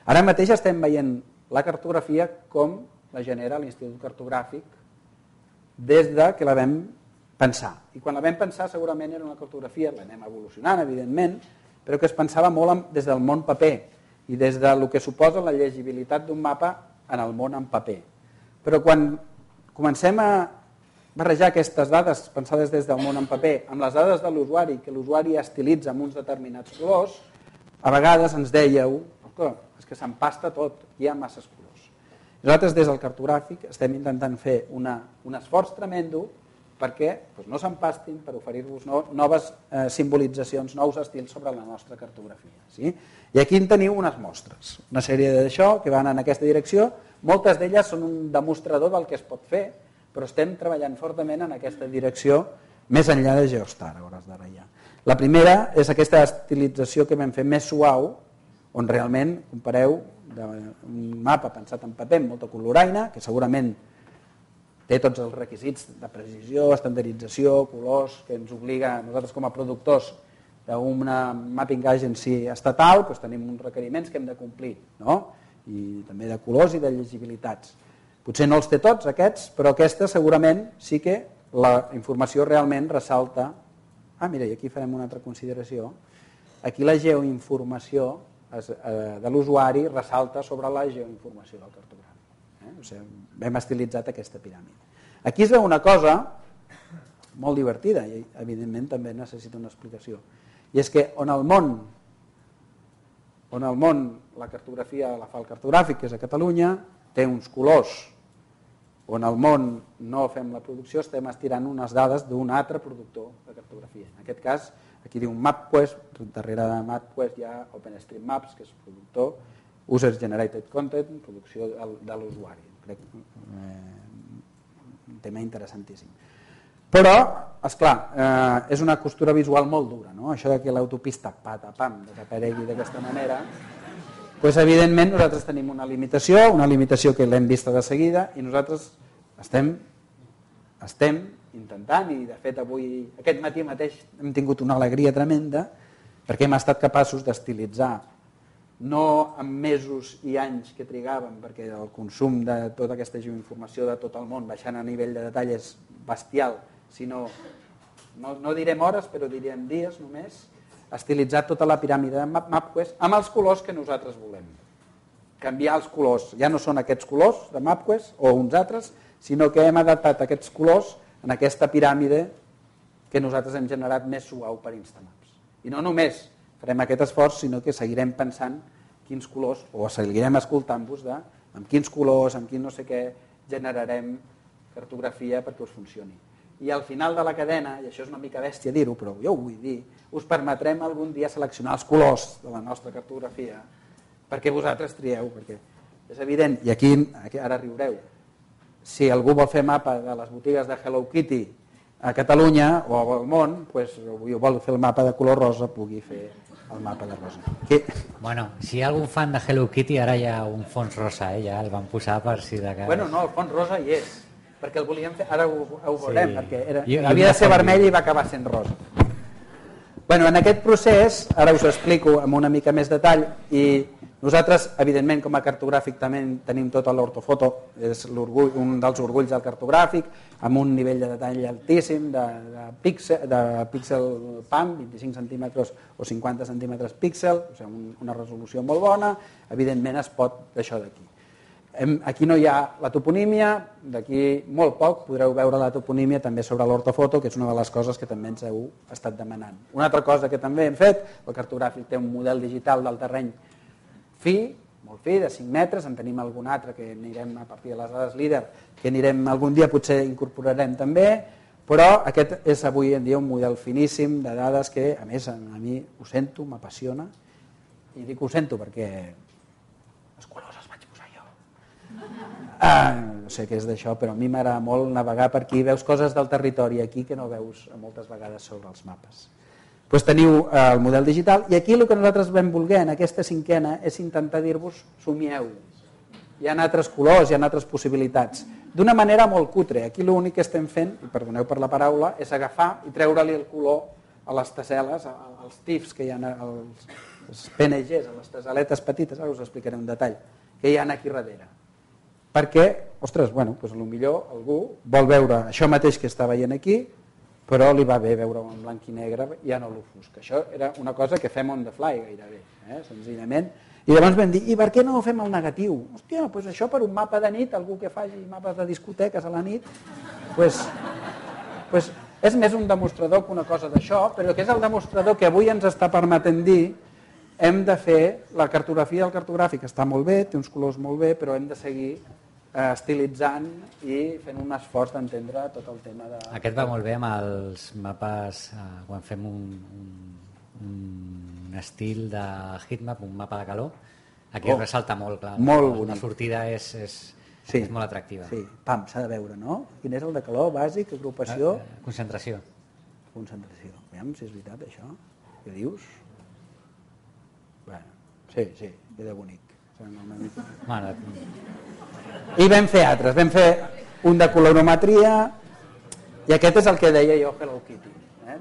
Ara mateix estem veient la cartografia com la genera l'Institut Cartogràfic des de que la vam pensar. I quan la vam pensar segurament era una cartografia, l'anem evolucionant evidentment, però que es pensava molt des del món paper i des del que suposa la llegibilitat d'un mapa en el món en paper. Però quan comencem a barrejar aquestes dades pensades des del món en paper amb les dades de l'usuari, que l'usuari estilitza amb uns determinats colors, a vegades ens dèieu és que s'empasta tot, hi ha masses colors. Nosaltres des del cartogràfic estem intentant fer un esforç tremendo perquè no s'empastin, per oferir-vos noves simbolitzacions, nous estils sobre la nostra cartografia. Sí? I aquí en teniu unes mostres, una sèrie d'això que van en aquesta direcció, moltes d'elles són un demostrador del que es pot fer, però estem treballant fortament en aquesta direcció més enllà de Geostar, a hores d'ara ja. La primera és aquesta estilització que vam fer més suau, on realment compareu un mapa pensat en paper amb molta coloraina, que segurament té tots els requisits de precisió, estandardització, colors, que ens obliga, nosaltres com a productors d'una mapping agency estatal, tenim uns requeriments que hem de complir, no? I també de colors i de llegibilitats. Potser no els té tots aquests, però aquesta segurament sí que la informació realment ressalta. Mira, i aquí farem una altra consideració. Aquí la geoinformació de l'usuari ressalta sobre la geoinformació del cartogràfic. O sigui, hem estilitzat aquesta piràmide. Aquí es veu una cosa molt divertida i evidentment també necessita una explicació. I és que on al món la cartografia la fa el cartogràfic, que és a Catalunya, té uns colors. On al món no fem la producció, estem estirant unes dades d'un altre productor de cartografia. En aquest cas, aquí diu MapQuest, darrere de MapQuest hi ha OpenStreetMaps, que és productor, User Generated Content, producció de l'usuari. Crec un tema interessantíssim. Però, esclar, és una costura visual molt dura, no? Això que l'autopista patapam desaparegui d'aquesta manera, evidentment nosaltres tenim una limitació que l'hem vista de seguida i nosaltres estem intentant, i de fet avui, aquest matí mateix hem tingut una alegria tremenda perquè hem estat capaços d'estilitzar, no en mesos i anys que trigàvem, perquè el consum de tota aquesta geoinformació de tot el món baixant a nivell de detall és bestial, sinó, no direm hores, però direm dies només, estilitzar tota la piràmide de MapQuest amb els colors que nosaltres volem. Canviar els colors, ja no són aquests colors de MapQuest o uns altres, sinó que hem adaptat aquests colors en aquesta piràmide que nosaltres hem generat més suau per Instamaps. I no només farem aquest esforç, sinó que seguirem pensant quins colors, o seguirem escoltant-vos amb quins colors, amb quin no sé què, generarem cartografia perquè us funcioni. I al final de la cadena, i això és una mica bèstia dir-ho, però jo ho vull dir, us permetrem algun dia seleccionar els colors de la nostra cartografia perquè vosaltres trieu, perquè és evident, i aquí ara riureu, si algú vol fer mapa de les botigues de Hello Kitty a Catalunya o al món, o vol fer el mapa de color rosa, pugui fer el mapa de rosa. Bueno, si hi ha algun fan de Hello Kitty, ara hi ha un fons rosa, ja el van posar per si de cas. Bueno, no, el fons rosa hi és, perquè el volíem fer, ara ho veurem, perquè havia de ser vermell i va acabar sent rosa. Bueno, en aquest procés, ara us ho explico amb una mica més detall, i nosaltres, evidentment, com a cartogràfic també tenim tota l'ortofoto, és un dels orgulls del cartogràfic, amb un nivell de detall altíssim de píxel PAM, 25 centímetres o 50 centímetres píxel, o sigui, una resolució molt bona, evidentment es pot d'això d'aquí. Aquí no hi ha la toponímia, d'aquí molt poc podreu veure la toponímia també sobre l'ortofoto, que és una de les coses que també ens heu estat demanant. Una altra cosa que també hem fet, el cartogràfic té un model digital del terreny fi, molt fi, de 5 metres, en tenim algun altre que anirem a partir de les dades líder, que anirem algun dia, potser incorporarem també, però aquest és avui en dia un model finíssim de dades que, a més, a mi ho sento, m'apassiona, i dic ho sento perquè els colors els vaig posar jo. No sé què és d'això, però a mi m'agrada molt navegar per aquí, veus coses del territori aquí que no veus moltes vegades sobre els mapes. Doncs teniu el model digital, i aquí el que nosaltres vam voler en aquesta cinquena és intentar dir-vos somieu. Hi ha altres colors, hi ha altres possibilitats. D'una manera molt cutre. Aquí l'únic que estem fent, i perdoneu per la paraula, és agafar i treure-li el color a les tasseles, als tifs que hi ha les PNGs, les aletes petites, ara us explicaré un detall, que hi ha aquí darrere. Perquè, ostres, bueno, doncs potser algú vol veure això mateix que està veient aquí, però li va bé veure-ho en blanc i negre, ja no l'ofusca. Això era una cosa que fem on the fly gairebé, senzillament. I llavors vam dir, i per què no fem el negatiu? Hòstia, doncs això per un mapa de nit, algú que faci mapes de discoteques a la nit, doncs és més un demostrador que una cosa d'això, però que és el demostrador que avui ens està permetent dir hem de fer la cartografia del cartogràfic, està molt bé, té uns colors molt bé, però hem de seguir estilitzant i fent un esforç d'entendre tot el tema de... Aquest va molt bé amb els mapes, quan fem un estil de heatmap, un mapa de calor, aquí ressalta molt, clar. Molt bonic. La sortida és molt atractiva. Sí, pam, s'ha de veure, no? Quin és el de calor bàsic, agrupació? Concentració. Concentració. Aviam si és veritat això. Què dius? Bueno, sí, queda bonic. Bueno, I vam fer altres, vam fer un de colorometria i aquest és el que deia jo Hello Kitty.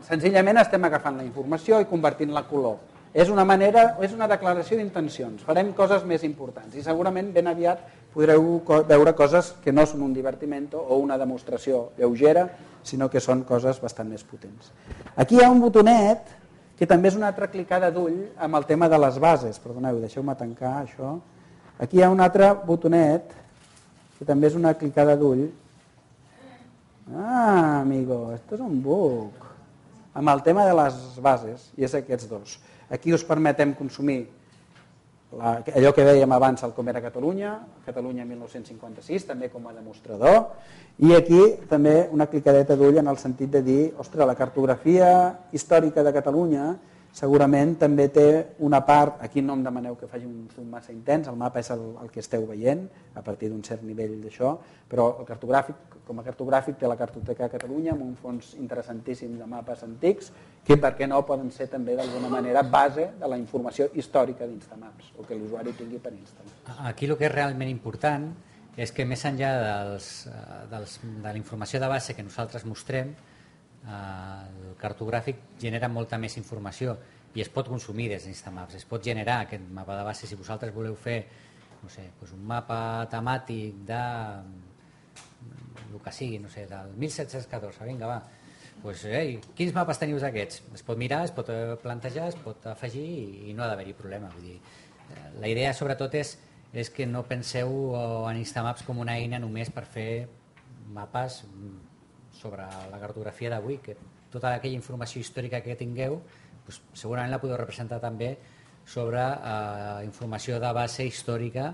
Senzillament estem agafant la informació i convertint-la a color. És una declaració d'intencions, farem coses més importants i segurament ben aviat podreu veure coses que no són un divertimento o una demostració lleugera, sinó que són coses bastant més potents. Aquí hi ha un botonet que també és una altra clicada d'ull amb el tema de les bases. Perdoneu, deixeu-me tancar això. Aquí hi ha un altre botonet que també és una clicada d'ull. Ah, amigo, esto es un bug. Amb el tema de les bases, i és aquests dos. Aquí us permetem consumir allò que dèiem abans, el Com era Catalunya, Catalunya 1956, també com a demostrador, i aquí també una clicadeta d'ull en el sentit de dir, ostres, la cartografia històrica de Catalunya segurament també té una part, aquí no em demaneu que faci un zoom massa intens, el mapa és el que esteu veient a partir d'un cert nivell d'això, però el cartogràfic, com a cartogràfic té la Cartoteca de Catalunya amb un fons interessantíssim de mapes antics que per què no poden ser també d'alguna manera base de la informació històrica d'Instamaps o que l'usuari tingui per instal·lar. Aquí el que és realment important és que més enllà de la informació de base que nosaltres mostrem, el cartogràfic genera molta més informació i es pot consumir des d'Instamaps, es pot generar aquest mapa de base si vosaltres voleu fer no sé, un mapa temàtic de el que sigui, no sé, del 1714, vinga va, quins mapes teniu aquests? Es pot mirar, es pot plantejar, es pot afegir i no ha d'haver-hi problema. Vull dir, la idea sobretot és que no penseu en Instamaps com una eina només per fer mapes sobre la cartografia d'avui, que tota aquella informació històrica que tingueu doncs, segurament la podeu representar també sobre informació de base històrica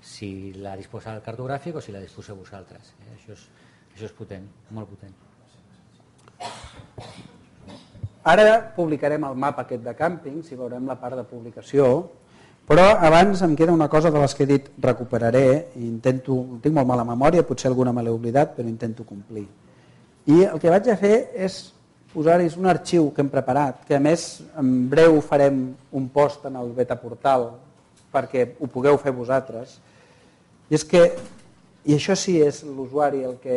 si la disposa el cartogràfic o si la disposeu vosaltres. Això és potent, molt potent. Ara publicarem el mapa aquest de càmping, si veurem la part de publicació, però abans em queda una cosa de les que he dit recuperaré, i tinc molt mala memòria, potser alguna me l'he oblidat, però intento complir. I el que vaig a fer és posar-hi un arxiu que hem preparat, que a més en breu farem un post en el beta portal perquè ho pugueu fer vosaltres. I això sí és l'usuari el que...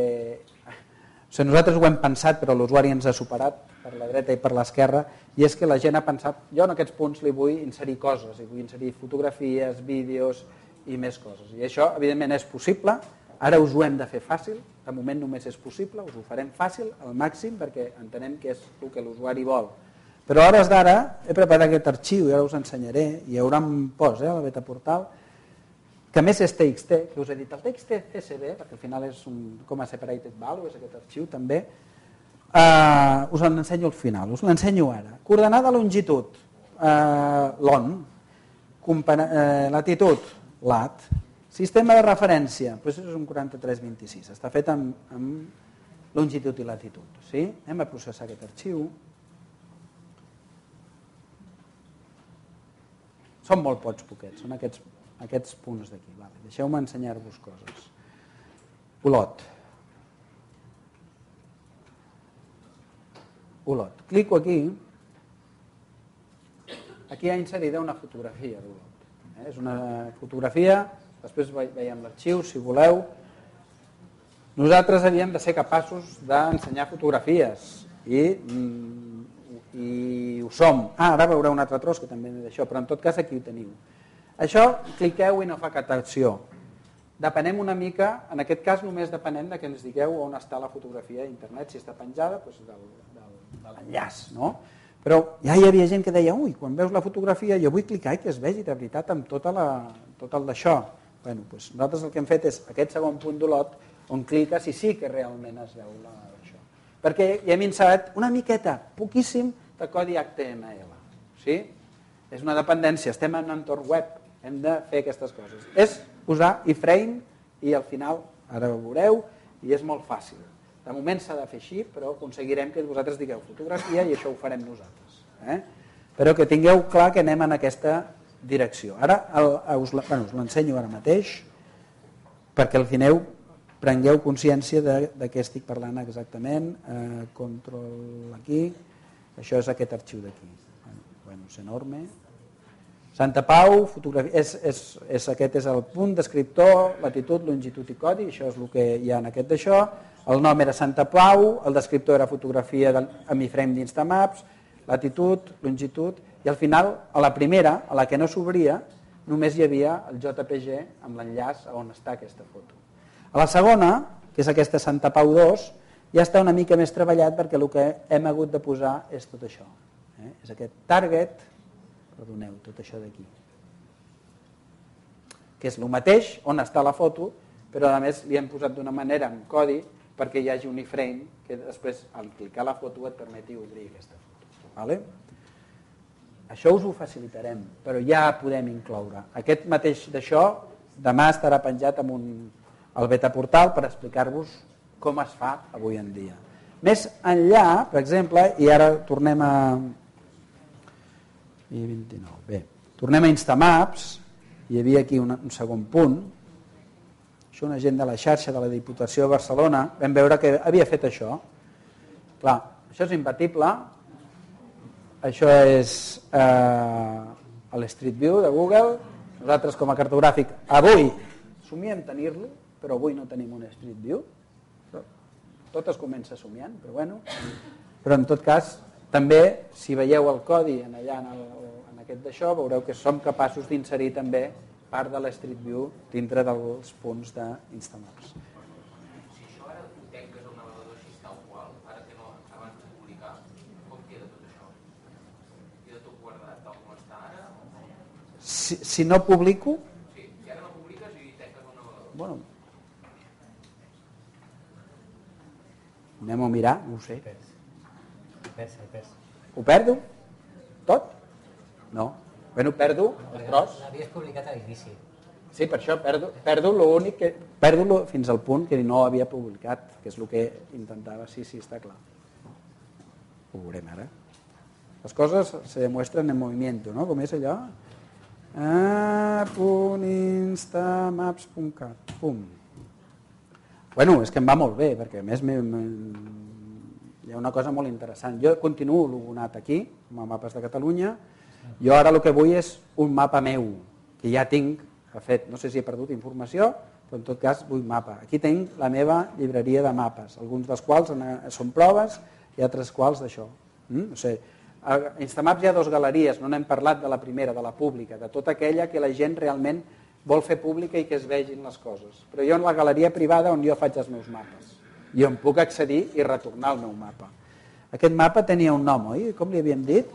O sigui, nosaltres ho hem pensat, però l'usuari ens ha superat per la dreta i per l'esquerra, i és que la gent ha pensat, jo en aquests punts li vull inserir coses, i vull inserir fotografies, vídeos i més coses. I això, evidentment, és possible. Ara us ho hem de fer fàcil, de moment només és possible, us ho farem fàcil, al màxim, perquè entenem que és el que l'usuari vol. Però a hores d'ara he preparat aquest arxiu i ara us ensenyaré, i hi haurà un post a la beta portal, que a més és TXT, que us he dit, el TXT CSV, perquè al final és un com a separated value, és aquest arxiu també, us l'ensenyo al final, us l'ensenyo ara. Coordenada longitud, LON, latitud, LAT, sistema de referència, doncs és un 4326, està fet amb longitud i latitud. Sí? Anem a processar aquest arxiu. Són molt poquets, són aquests punts d'aquí. Deixeu-me ensenyar-vos coses. Olot. Clico aquí. Aquí hi ha inserida una fotografia d'Olot. És una fotografia, després veiem l'arxiu, si voleu. Nosaltres havíem de ser capaços d'ensenyar fotografies i i ho som. Ara veureu un altre tros que també d'això, però en tot cas aquí ho teniu. Això, cliqueu i no fa cap acció. Depenem una mica, en aquest cas només depenem de que ens digueu on està la fotografia d'internet, si està penjada, doncs de l'enllaç, no? Però ja hi havia gent que deia, ui, quan veus la fotografia jo vull clicar i que es vegi de veritat amb tot el d'això. Bueno, doncs nosaltres el que hem fet és aquest segon punt d'olot on cliques i sí que realment es veu això. Perquè ja hem inserit una miqueta, poquíssim, de codi HTML. Sí? És una dependència, estem en un entorn web, hem de fer aquestes coses. És posar iframe i al final, ara ho veureu, i és molt fàcil. De moment s'ha de fer així, però aconseguirem que vosaltres digueu fotografia i això ho farem nosaltres. Però que tingueu clar que anem en aquesta direcció. Ara us l'ensenyo ara mateix perquè al final prengueu consciència de què estic parlant exactament. Control aquí. Això és aquest arxiu d'aquí. Bueno, és enorme. Santa Pau, fotografia, aquest és el punt descriptor, latitud, longitud i codi, això és el que hi ha en aquest d'això. El nom era Santa Pau, el descriptor era fotografia amb iframe d'Instamaps, latitud, longitud, i al final, a la primera, a la que no s'obria, només hi havia el JPG amb l'enllaç on està aquesta foto. A la segona, que és aquesta Santa Pau 2, ja està una mica més treballat perquè el que hem hagut de posar és tot això. És aquest target, perdoneu, tot això d'aquí, que és el mateix on està la foto, però a més li hem posat d'una manera amb codi perquè hi hagi un iframe que després, al clicar la foto, et permeti obrir aquesta foto. Vale? Això us ho facilitarem, però ja podem incloure. Aquest mateix d'això demà estarà penjat al betaportal per explicar-vos com es fa avui en dia. Més enllà, per exemple, i ara tornem a... Bé, tornem a Instamaps, hi havia aquí un segon punt. Això una gent de la xarxa de la Diputació de Barcelona, vam veure que havia fet això. Clar, això és imbatible. Això és l'Street View de Google. Nosaltres com a cartogràfic avui somiem tenir-lo, però avui no tenim un Street View. Tot es comença somiant, però bueno. Però en tot cas, també, si veieu el codi allà en aquest d'això, veureu que som capaços d'inserir també part de l'Street View dintre dels punts d'Instamaps. Si això ara ho tanques al navegador així tal qual, ara que no, abans de publicar, com queda tot això? Queda tot guardat tal com està ara? Si no publico... Sí, si ara no publiques i tanques al navegador. Bueno, anem a mirar, no ho sé. Ho perdo? Tot? No. Bueno, perdo el tros. L'havies publicat a l'inici. Sí, per això perdo l'únic que... Perdo fins al punt que no havia publicat, que és el que intentava. Sí, està clar. Ho veurem ara. Les coses se demuestran en movimiento, ¿no? Com és allò? .instamaps.cat. Pum. Bueno, és que em va molt bé, perquè a més hi ha una cosa molt interessant. Jo continuo logonat aquí, com a Mapes de Catalunya. Jo ara el que vull és un mapa meu, que ja tinc fet. No sé si he perdut informació, però en tot cas vull mapa. Aquí tinc la meva llibreria de mapes, alguns dels quals són proves i altres quals d'això. No sé. A Instamaps hi ha dues galeries, no n'hem parlat de la primera, de la pública, de tota aquella que la gent realment vol fer pública i que es vegin les coses. Però jo en la galeria privada on jo faig els meus mapes. I on puc accedir i retornar el meu mapa. Aquest mapa tenia un nom, oi? Com li havíem dit?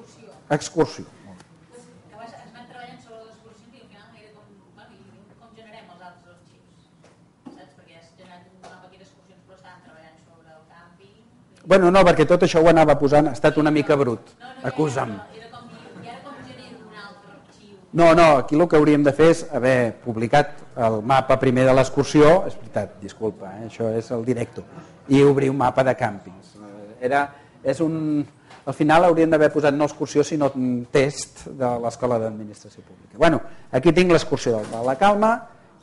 Excursió. Llavors es van treballant sobre l'excursió i al final era com generem els altres arxius. Saps? Perquè has generat un mapa aquí d'excursions però estaven treballant sobre el càmping. Bueno, no, perquè tot això ho anava posant, ha estat una mica brut. Acusa'm. No, aquí el que hauríem de fer és haver publicat el mapa primer de l'excursió, és veritat, disculpa, això és el directo, i obrir un mapa de càmpings. Al final hauríem d'haver posat no excursió, sinó un test de l'Escola d'Administració Pública. Bueno, aquí tinc l'excursió del Pla de Calma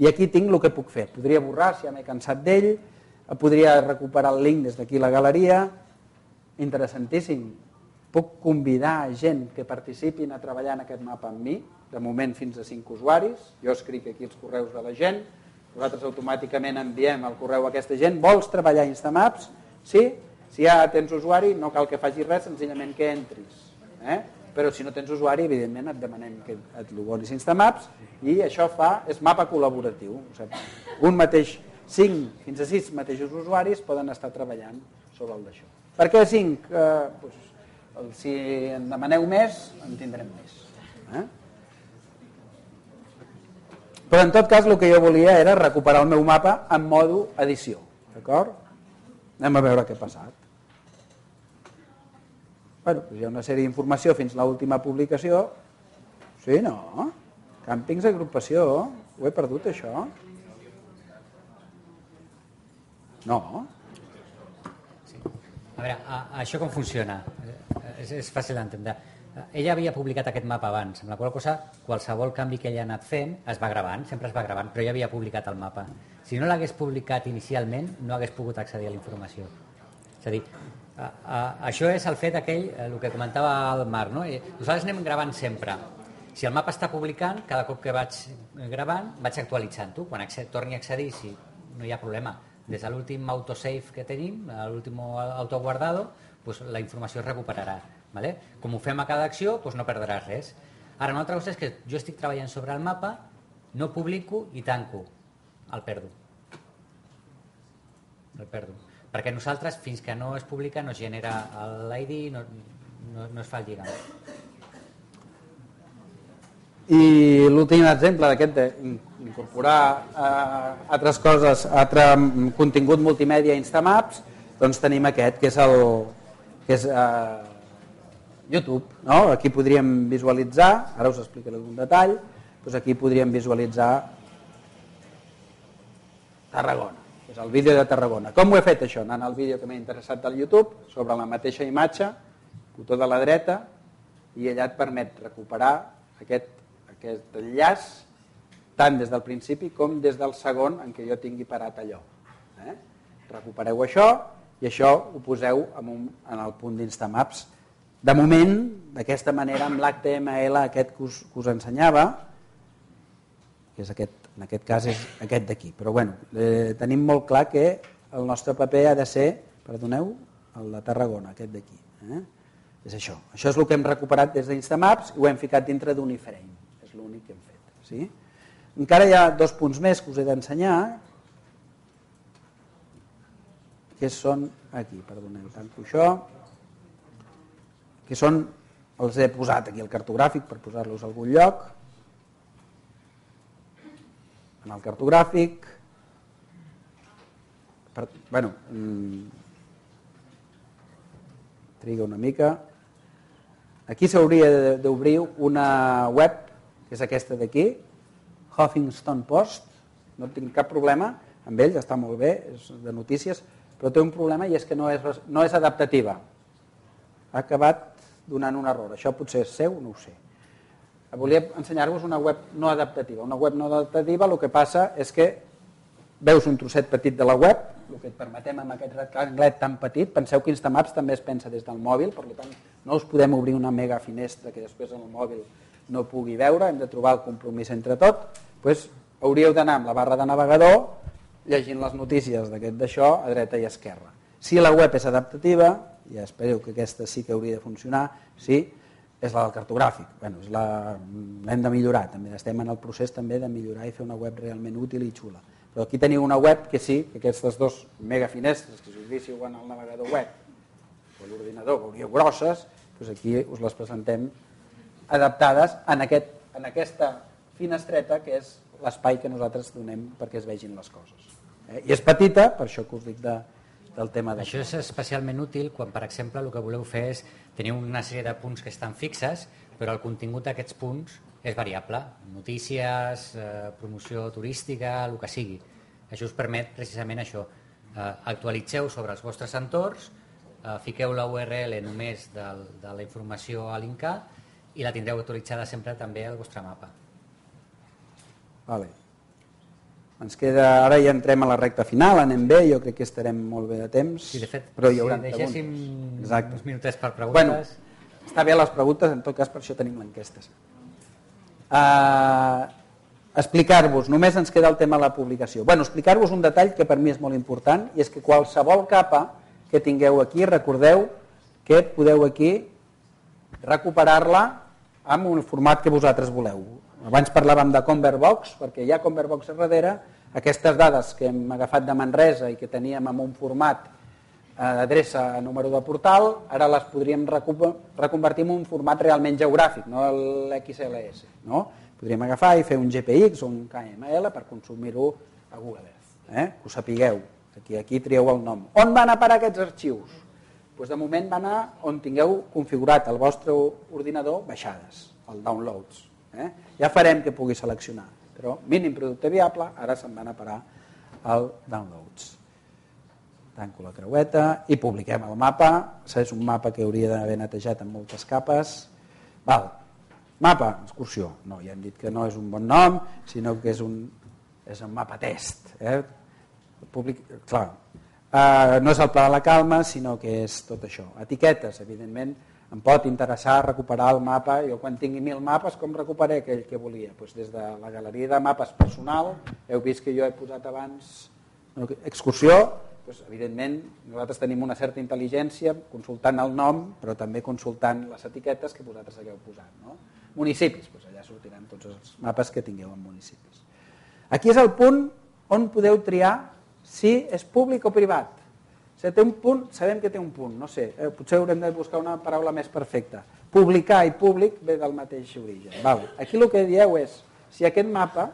i aquí tinc el que puc fer. Podria borrar, si ja m'he cansat d'ell, podria recuperar el link des d'aquí a la galeria. Interessantíssim. Puc convidar gent que participin a treballar en aquest mapa amb mi, de moment fins a 5 usuaris, jo escric aquí els correus de la gent, nosaltres automàticament enviem el correu a aquesta gent, vols treballar a Instamaps? Sí? Si ja tens usuari, no cal que facis res, senzillament que entris. Però si no tens usuari, evidentment et demanem que et logonis Instamaps i això és mapa col·laboratiu. O sigui, un mateix, 5 fins a 6 mateixos usuaris poden estar treballant sobre el d'això. Per què 5? Si en demaneu més, en tindrem més. Però en tot cas el que jo volia era recuperar el meu mapa en modo edició. D'acord? Anem a veure què ha passat. Bueno, doncs hi ha una sèrie d'informació fins a l'última publicació. Sí, no? Càmpings, agrupació. Ho he perdut, això? No. A veure, això com funciona? És fàcil d'entendre. Ella havia publicat aquest mapa abans, amb la qual cosa qualsevol canvi que ella ha anat fent es va gravant, sempre es va gravant, però ja havia publicat el mapa. Si no l'hagués publicat inicialment, no hagués pogut accedir a la informació. És a dir, això és el fet aquell, el que comentava el Marc, no? Nosaltres anem gravant sempre. Si el mapa està publicant, cada cop que vaig gravant, vaig actualitzant-ho. Quan torni a accedir, si no hi ha problema, des de l'últim autosave que tenim, l'últim autoguardado, doncs la informació es recuperarà. Vale? Com ho fem a cada acció, doncs no perdràs res. Ara, una altra cosa és que jo estic treballant sobre el mapa, no publico i tanco. El perdo. Perquè nosaltres, fins que no es publica, no es genera l'ID, no es fa el lligam. I l'últim exemple d'aquest d'incorporar altres coses, altre contingut multimèdia Instamaps, doncs tenim aquest, que és YouTube. No? Aquí podríem visualitzar, ara us explicaré algun detall, doncs aquí podríem visualitzar Tarragona. És el vídeo de Tarragona. Com ho he fet això? Anant al vídeo que m'ha interessat del YouTube, sobre la mateixa imatge, botó de la dreta, i allà et permet recuperar aquest enllaç tant des del principi com des del segon en què jo tingui parat allò. Recupereu això i això ho poseu en el punt d'Instamaps. De moment, d'aquesta manera, amb l'HTML aquest que us ensenyava, que és en aquest cas és aquest d'aquí. Però bueno, tenim molt clar que el nostre paper ha de ser, perdoneu, el de Tarragona, aquest d'aquí. És això. Això és el que hem recuperat des d'Instamaps i ho hem ficat dintre d'un iframe. És l'únic que hem fet. Sí? Encara hi ha 2 punts més que us he d'ensenyar, que són aquí, perdoneu, tanco això, que són, els he posat aquí el cartogràfic per posar-los a algun lloc. En el cartogràfic, bueno, triga una mica. Aquí s'hauria d'obrir una web, que és aquesta d'aquí, Huffington Post. No tinc cap problema amb ells, està molt bé, és de notícies, però té un problema i és que no és adaptativa. Ha acabat donant un error. Això potser és seu, no ho sé. Volia ensenyar-vos una web no adaptativa. Una web no adaptativa el que passa és que veus un trosset petit de la web, el que et permetem amb aquest rectanglet tan petit. Penseu que Instamaps també es pensa des del mòbil, per tant no us podem obrir una mega finestra que després en el mòbil no pugui veure, hem de trobar el compromís entre tot. Doncs hauríeu d'anar amb la barra de navegador llegint les notícies d'això a dreta i esquerra. Si la web és adaptativa, ja espereu que aquesta sí que hauria de funcionar, sí, és la del cartogràfic. L'hem de millorar, també estem en el procés també de millorar i fer una web realment útil i xula. Però aquí teniu una web que sí, que aquestes 2 megafinestres, que si us víssiu en el navegador web o l'ordinador veuríeu grosses, doncs aquí us les presentem adaptades en aquesta finestreta que és l'espai que nosaltres donem perquè es vegin les coses. I és petita, per això que us dic del tema d'això. Això és especialment útil quan, per exemple, el que voleu fer és tenir una sèrie de punts que estan fixes, però el contingut d'aquests punts és variable. Notícies, promoció turística, el que sigui. Això us permet precisament això. Actualitzeu sobre els vostres entorns, fiqueu la URL només de la informació a linkar i la tindreu actualitzada sempre també al vostre mapa. Vale. Ens queda, ara ja entrem a la recta final, anem bé, jo crec que estarem molt bé de temps. Sí, de fet, però hi haurà si deixéssim uns minutets per preguntes... Bueno, està bé les preguntes, en tot cas per això tenim l'enquestes. Explicar-vos, només ens queda el tema de la publicació. Bueno, explicar-vos un detall que per mi és molt important i és que qualsevol capa que tingueu aquí, recordeu que podeu aquí recuperar-la amb un format que vosaltres voleu. Abans parlàvem de Convertbox, perquè hi ha Convertbox a darrere. Aquestes dades que hem agafat de Manresa i que teníem en un format d'adreça a número de portal, ara les podríem reconvertir en un format realment geogràfic, no l'XLS. No? Podríem agafar i fer un GPX o un KML per consumir-ho a Google Earth. Que ho sapigueu. Aquí trieu el nom. On van a parar aquests arxius? Doncs de moment van a on tingueu configurat el vostre ordinador baixades, el downloads. Ja farem que pugui seleccionar, però mínim producte viable, ara se'n van a parar al downloads. Tanco la creueta i publiquem el mapa. És un mapa que hauria d'haver netejat amb moltes capes. Mapa, excursió. No, ja hem dit que no és un bon nom, sinó que és un mapa test. Clar, no és el Pla de la Calma, sinó que és tot això. Etiquetes, evidentment, em pot interessar recuperar el mapa. Jo quan tingui 1000 mapes, com recuperaré aquell que volia? Des de la galeria de mapes personal, heu vist que jo he posat abans excursió, evidentment nosaltres tenim una certa intel·ligència consultant el nom, però també consultant les etiquetes que vosaltres hagueu posat. Municipis, allà sortiran tots els mapes que tingueu en municipis. Aquí és el punt on podeu triar si és públic o privat. Si té un punt, sabem que té un punt, no sé, potser haurem de buscar una paraula més perfecta. Publicar i públic ve del mateix origen. Aquí el que dieu és, si aquest mapa,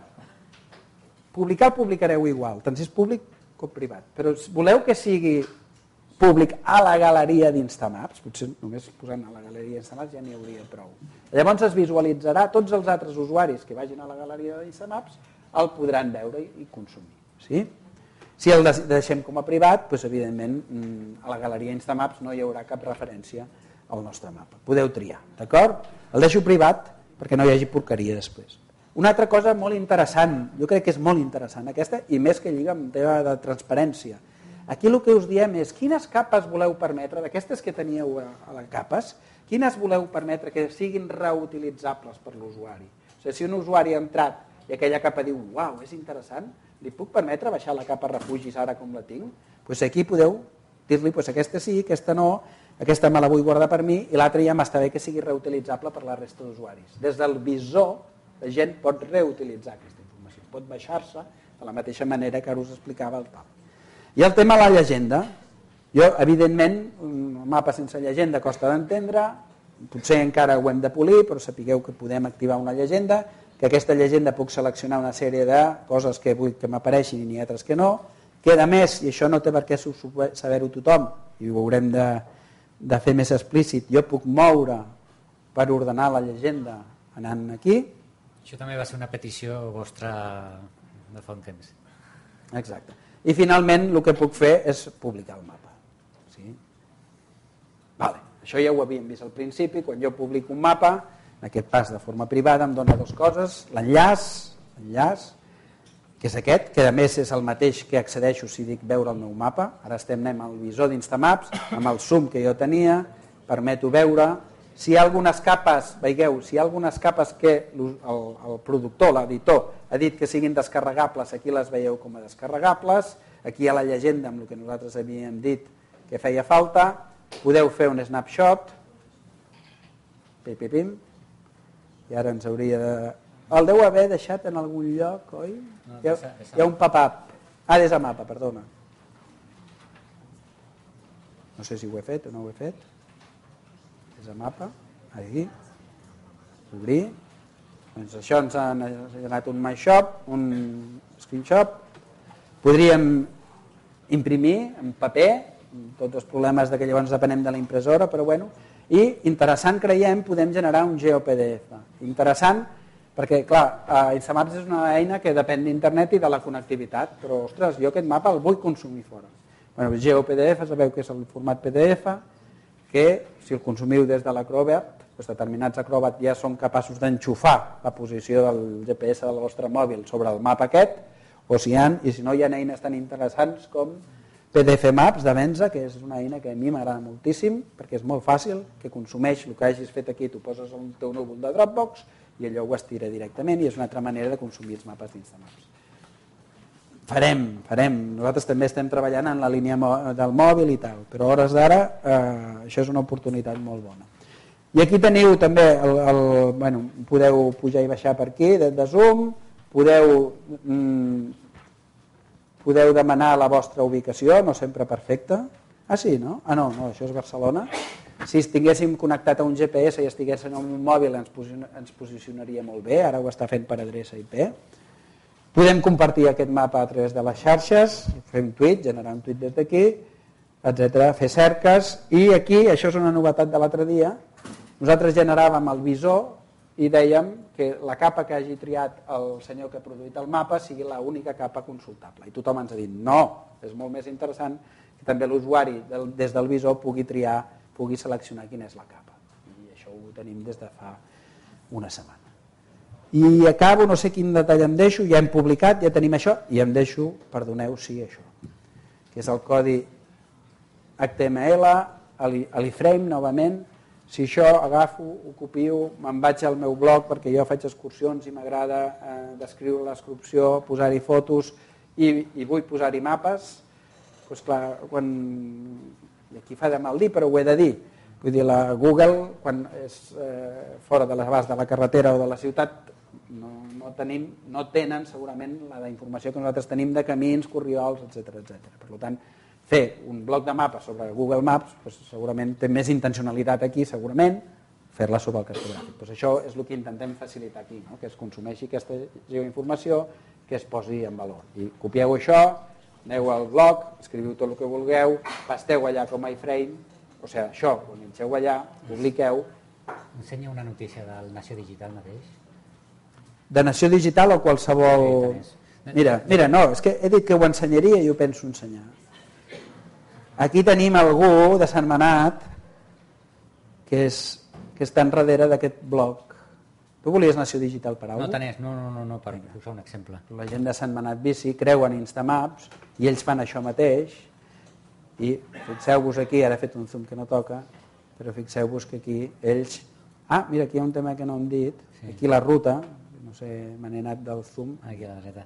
publicar el publicareu igual, tant si és públic com privat, però voleu que sigui públic a la galeria d'Instamaps, potser només posant a la galeria d'Instamaps ja n'hi hauria prou. Llavors es visualitzarà, tots els altres usuaris que vagin a la galeria d'Instamaps el podran veure i consumir. Si el deixem com a privat, evidentment a la galeria Instamaps no hi haurà cap referència al nostre mapa. Podeu triar, d'acord? El deixo privat perquè no hi hagi porqueria després. Una altra cosa molt interessant, jo crec que és molt interessant aquesta, i més que lliga amb tema de transparència. Aquí el que us diem és quines capes voleu permetre, d'aquestes que teníeu a les capes, quines voleu permetre que siguin reutilitzables per l'usuari. Si un usuari ha entrat i aquella capa diu, uau, és interessant, li puc permetre baixar la capa refugis ara com la tinc? Aquí podeu dir-li, aquesta sí, aquesta no, aquesta me la vull guardar per mi i l'altra ja m'està bé que sigui reutilitzable per la resta d'usuaris. Des del visor la gent pot reutilitzar aquesta informació, pot baixar-se de la mateixa manera que ara us explicava el tal. I el tema de la llegenda. Jo, evidentment, un mapa sense llegenda costa d'entendre, potser encara ho hem de polir, però sapigueu que podem activar una llegenda, que aquesta llegenda puc seleccionar una sèrie de coses que vull que m'apareixin i n'hi ha altres que no, que a més, i això no té per què saber-ho tothom, i ho haurem de fer més explícit, jo puc moure per ordenar la llegenda anant aquí. Això també va ser una petició vostra de fa un temps. Exacte. I finalment el que puc fer és publicar el mapa. Això ja ho havíem vist al principi, quan jo publico un mapa, en aquest pas de forma privada em dona dues coses, l'enllaç, que és aquest, que a més és el mateix que accedeixo si dic veure el meu mapa. Ara anem al visor d'Instamaps, amb el zoom que jo tenia, permeto veure. Si hi ha algunes capes, veieu, si hi ha algunes capes que el productor, l'editor, ha dit que siguin descarregables, aquí les veieu com a descarregables, aquí hi ha la llegenda amb el que nosaltres havíem dit que feia falta, podeu fer un snapshot, pim, i ara ens hauria de... El deu haver deixat en algun lloc, oi? Hi ha un pop-up. Des de mapa, perdona. No sé si ho he fet o no ho he fet. Des de mapa, aquí. Obrir. Doncs això ens ha generat un MyShop, un screenshot. Podríem imprimir en paper, tots els problemes que llavors depenem de la impressora, però bueno. I interessant, creiem, podem generar un GeoPDF. Interessant, perquè, clar, Instamaps és una eina que depèn d'internet i de la connectivitat, però, ostres, jo aquest mapa el vull consumir fora. Bueno, GeoPDF, sabeu que és el format PDF, que si el consumiu des de l'Acrobat, determinats Acrobat ja són capaços d'enxufar la posició del GPS del vostre mòbil sobre el mapa aquest, o si no hi ha eines tan interessants com PDF Maps de Venza, que és una eina que a mi m'agrada moltíssim, perquè és molt fàcil, que consumeix el que hagis fet aquí, tu poses el teu núvol de Dropbox i allò ho estira directament i és una altra manera de consumir els mapes d'Instamaps. Farem. Nosaltres també estem treballant en la línia del mòbil i tal, però a hores d'ara això és una oportunitat molt bona. I aquí teniu també, bueno, podeu pujar i baixar per aquí, de Zoom, podeu demanar la vostra ubicació, no sempre perfecta. Ah, sí, no? Ah, no, això és Barcelona. Si estiguéssim connectat a un GPS i estiguéssim en un mòbil ens posicionaria molt bé, ara ho està fent per adreça IP. Podem compartir aquest mapa a través de les xarxes, fer un tuit, generar un tuit des d'aquí, etc. Fer cerques, i aquí, això és una novetat de l'altre dia, nosaltres generàvem el visor i dèiem que la capa que hagi triat el senyor que ha produït el mapa sigui l'única capa consultable. I tothom ens ha dit, no, és molt més interessant que també l'usuari des del visor pugui seleccionar quina és la capa. I això ho tenim des de fa una setmana. I acabo, no sé quin detall em deixo, ja hem publicat, ja tenim això, i em deixo, perdoneu, sí, això, que és el codi HTML, l'iframe, novament. Si això agafo, ho copio, me'n vaig al meu blog perquè jo faig excursions i m'agrada descriure l'excursió, posar-hi fotos i vull posar-hi mapes, doncs clar, i aquí fa de mal dir, però ho he de dir. Vull dir, la Google, quan és fora de l'abast de la carretera o de la ciutat, no tenen segurament la informació que nosaltres tenim de camins, corriols, etc. Per tant, fer un bloc de mapes sobre Google Maps segurament té més intencionalitat aquí, segurament, fer-la sobre el cartogràfic. Això és el que intentem facilitar aquí, que es consumeixi aquesta geoinformació, que es posi en valor. I copieu això, aneu al blog, escriviu tot el que vulgueu, pasteu allà com a iframe, o sigui, això, ho enganxeu allà, publiqueu. Ensenya una notícia del Nació Digital mateix. De Nació Digital o qualsevol... Mira, no, és que he dit que ho ensenyaria i ho penso ensenyar. Aquí tenim algú de Sant Manat que està enrere d'aquest blog. Tu volies Nació Digital per alguna cosa? No, per posar un exemple. La gent de Sant Manat Bici creuen Instamaps i ells fan això mateix i fixeu-vos aquí, ara he fet un zoom que no toca, però fixeu-vos que aquí ells... Ah, mira, aquí hi ha un tema que no hem dit. Aquí la ruta, no sé, me n'he anat del zoom. Aquí a la dreta.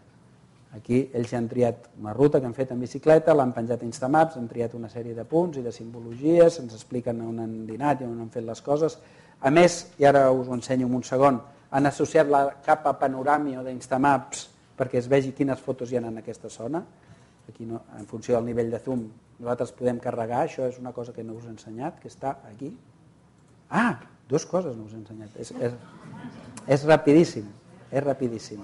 Aquí ells han triat una ruta que han fet en bicicleta, l'han penjat a Instamaps, han triat una sèrie de punts i de simbologies, ens expliquen on han dinat i on han fet les coses. A més, i ara us ho ensenyo en un segon, han associat la capa panoràmia d'Instamaps perquè es vegi quines fotos hi ha en aquesta zona. Aquí, en funció del nivell de zoom, nosaltres podem carregar, això és una cosa que no us he ensenyat, que està aquí. Ah, dues coses no us he ensenyat. És rapidíssim, és rapidíssim.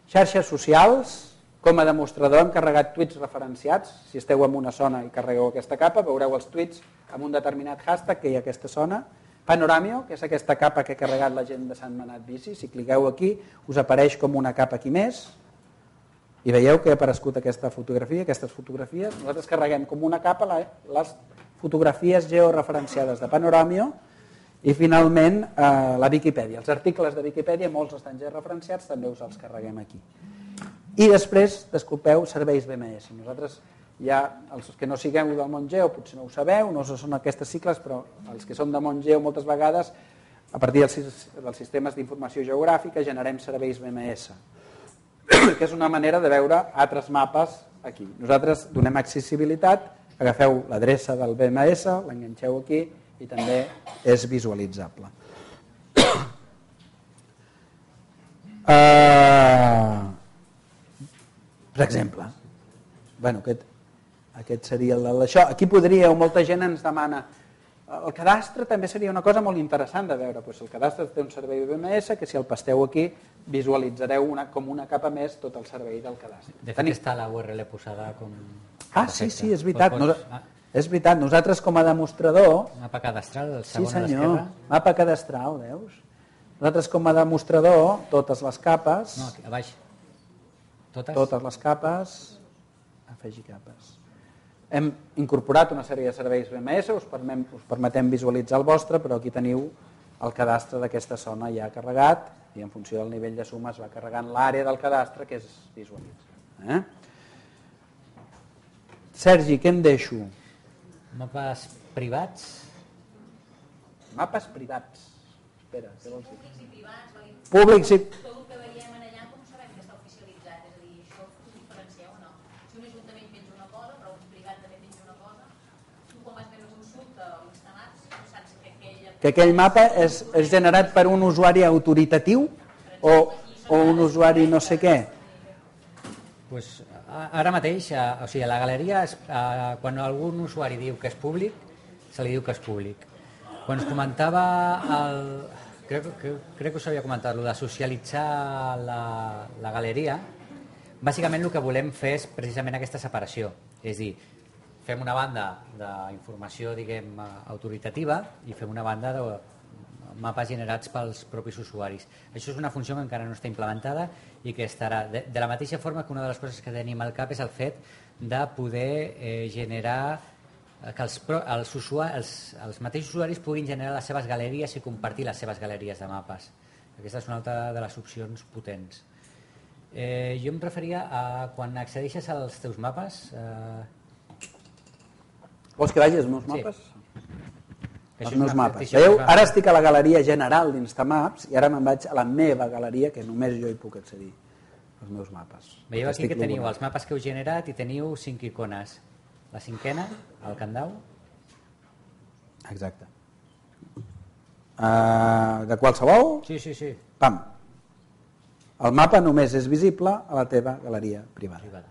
Xarxes socials, com a demostrador hem carregat tuits referenciats. Si esteu en una zona i carregueu aquesta capa, veureu els tuits amb un determinat hashtag que hi ha a aquesta zona. Panoràmio, que és aquesta capa que ha carregat la gent de Sant Manat Bici. Si cliqueu aquí, us apareix com una capa aquí més. I veieu que ha aparegut aquesta fotografia, aquestes fotografies. Nosaltres carreguem com una capa les fotografies georreferenciades de Panoràmio i finalment la Viquipèdia. Els articles de Viquipèdia, molts estan georreferenciats, també us els carreguem aquí. I després, desculpeu, serveis BMS. Nosaltres ja, els que no sigueu del món geo, potser no ho sabeu, no són aquestes cicles, però els que són de món geo moltes vegades, a partir dels sistemes d'informació geogràfica, generem serveis BMS, que és una manera de veure altres mapes aquí. Nosaltres donem accessibilitat, agafeu l'adreça del BMS, l'enganxeu aquí i també és visualitzable. Per exemple, aquest seria l'això. Aquí podríeu, molta gent ens demana, el cadastre també seria una cosa molt interessant de veure. El cadastre té un servei BMS que si el pasteu aquí visualitzareu com una capa més tot el servei del cadastre. De fet està la URL posada com... Ah, sí, és veritat. És veritat, nosaltres com a demostrador... Mapa cadastral, el segon a l'esquerra. Sí senyor, mapa cadastral, veus? Nosaltres com a demostrador, totes les capes... No, aquí, a baix. Totes les capes, afegir capes. Hem incorporat una sèrie de serveis BMS, us permetem visualitzar el vostre, però aquí teniu el cadastre d'aquesta zona ja carregat i en funció del nivell de suma es va carregant l'àrea del cadastre que es visualitza. Sergi, què em deixo? Mapes privats. Mapes privats. Espera, què vols dir? Públics i privats. Públics i... Tot el que veiem allà, com sabem que està oficialitzat? És a dir, això ho diferencieu o no? Que aquell mapa és generat per un usuari autoritatiu o un usuari no sé què? Pues, ara mateix, o sigui, la galeria, quan algun usuari diu que és públic, se li diu que és públic. Quan es comentava, crec que us havia comentat, de socialitzar la galeria, bàsicament el que volem fer és precisament aquesta separació. És dir, fem una banda d'informació, diguem, autoritativa i fem una banda de mapes generats pels propis usuaris. Això és una funció que encara no està implementada i que estarà de la mateixa forma que una de les coses que tenim al cap és el fet de poder generar que els mateixos usuaris puguin generar les seves galeries i compartir les seves galeries de mapes. Aquesta és una altra de les opcions potents. Jo em referia a quan accedeixes als teus mapes... Vols que vagi als meus mapes? Sí. Els meus mapes. Veieu? Ara estic a la galeria general d'Instamaps i ara me'n vaig a la meva galeria, que només jo hi puc accedir, als meus mapes. Veieu aquí que teniu els mapes que heu generat i teniu 5 icones. La cinquena, el Candau. Exacte. De qualsevol? Sí. Pam. El mapa només és visible a la teva galeria privada.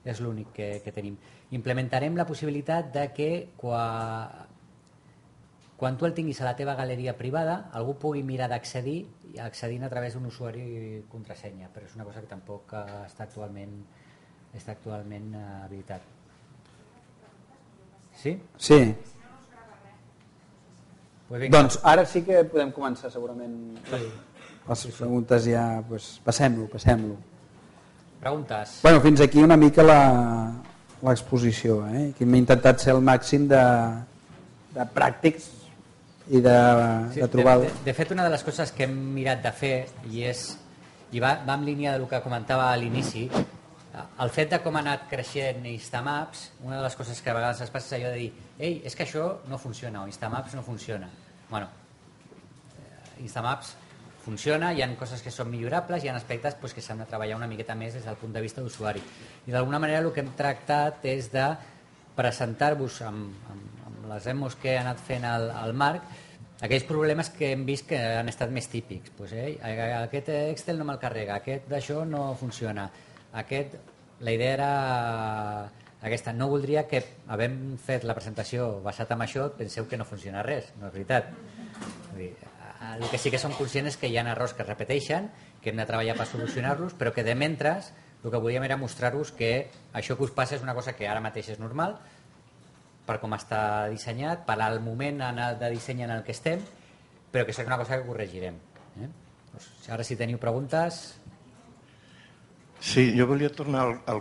És l'únic que tenim. Implementarem la possibilitat de que quan tu el tinguis a la teva galeria privada algú pugui mirar d'accedir accedint a través d'un usuari i contrasenya, però és una cosa que tampoc està actualment habilitat. Sí? Sí. Pues doncs ara sí que podem començar segurament les preguntes ja, pues, passem-lo. Preguntes? Bueno, fins aquí una mica l'exposició, que m'he intentat ser el màxim de pràctics i de trobar... De fet, una de les coses que hem mirat de fer i va en línia del que comentava a l'inici, el fet de com ha anat creixent Instamaps, una de les coses que a vegades es passa és allò de dir ei, és que això no funciona, o Instamaps no funciona. Bueno, Instamaps funciona, hi ha coses que són millorables, hi ha aspectes que s'han de treballar una miqueta més des del punt de vista d'usuari. I d'alguna manera el que hem tractat és de presentar-vos amb les demos que ha anat fent el Marc aquells problemes que hem vist que han estat més típics. Aquest Excel no me'l carrega, aquest d'això no funciona, la idea era aquesta. No voldria que, havent fet la presentació basat en això, penseu que no funciona res, no és veritat. El que sí que som conscients és que hi ha errors que es repeteixen, que hem de treballar per solucionar-los, però que de mentres el que volíem era mostrar-vos que això que us passa és una cosa que ara mateix és normal, per com està dissenyat, per al moment de disseny en el que estem, però que és una cosa que corregirem. Ara si teniu preguntes... Sí, jo volia tornar al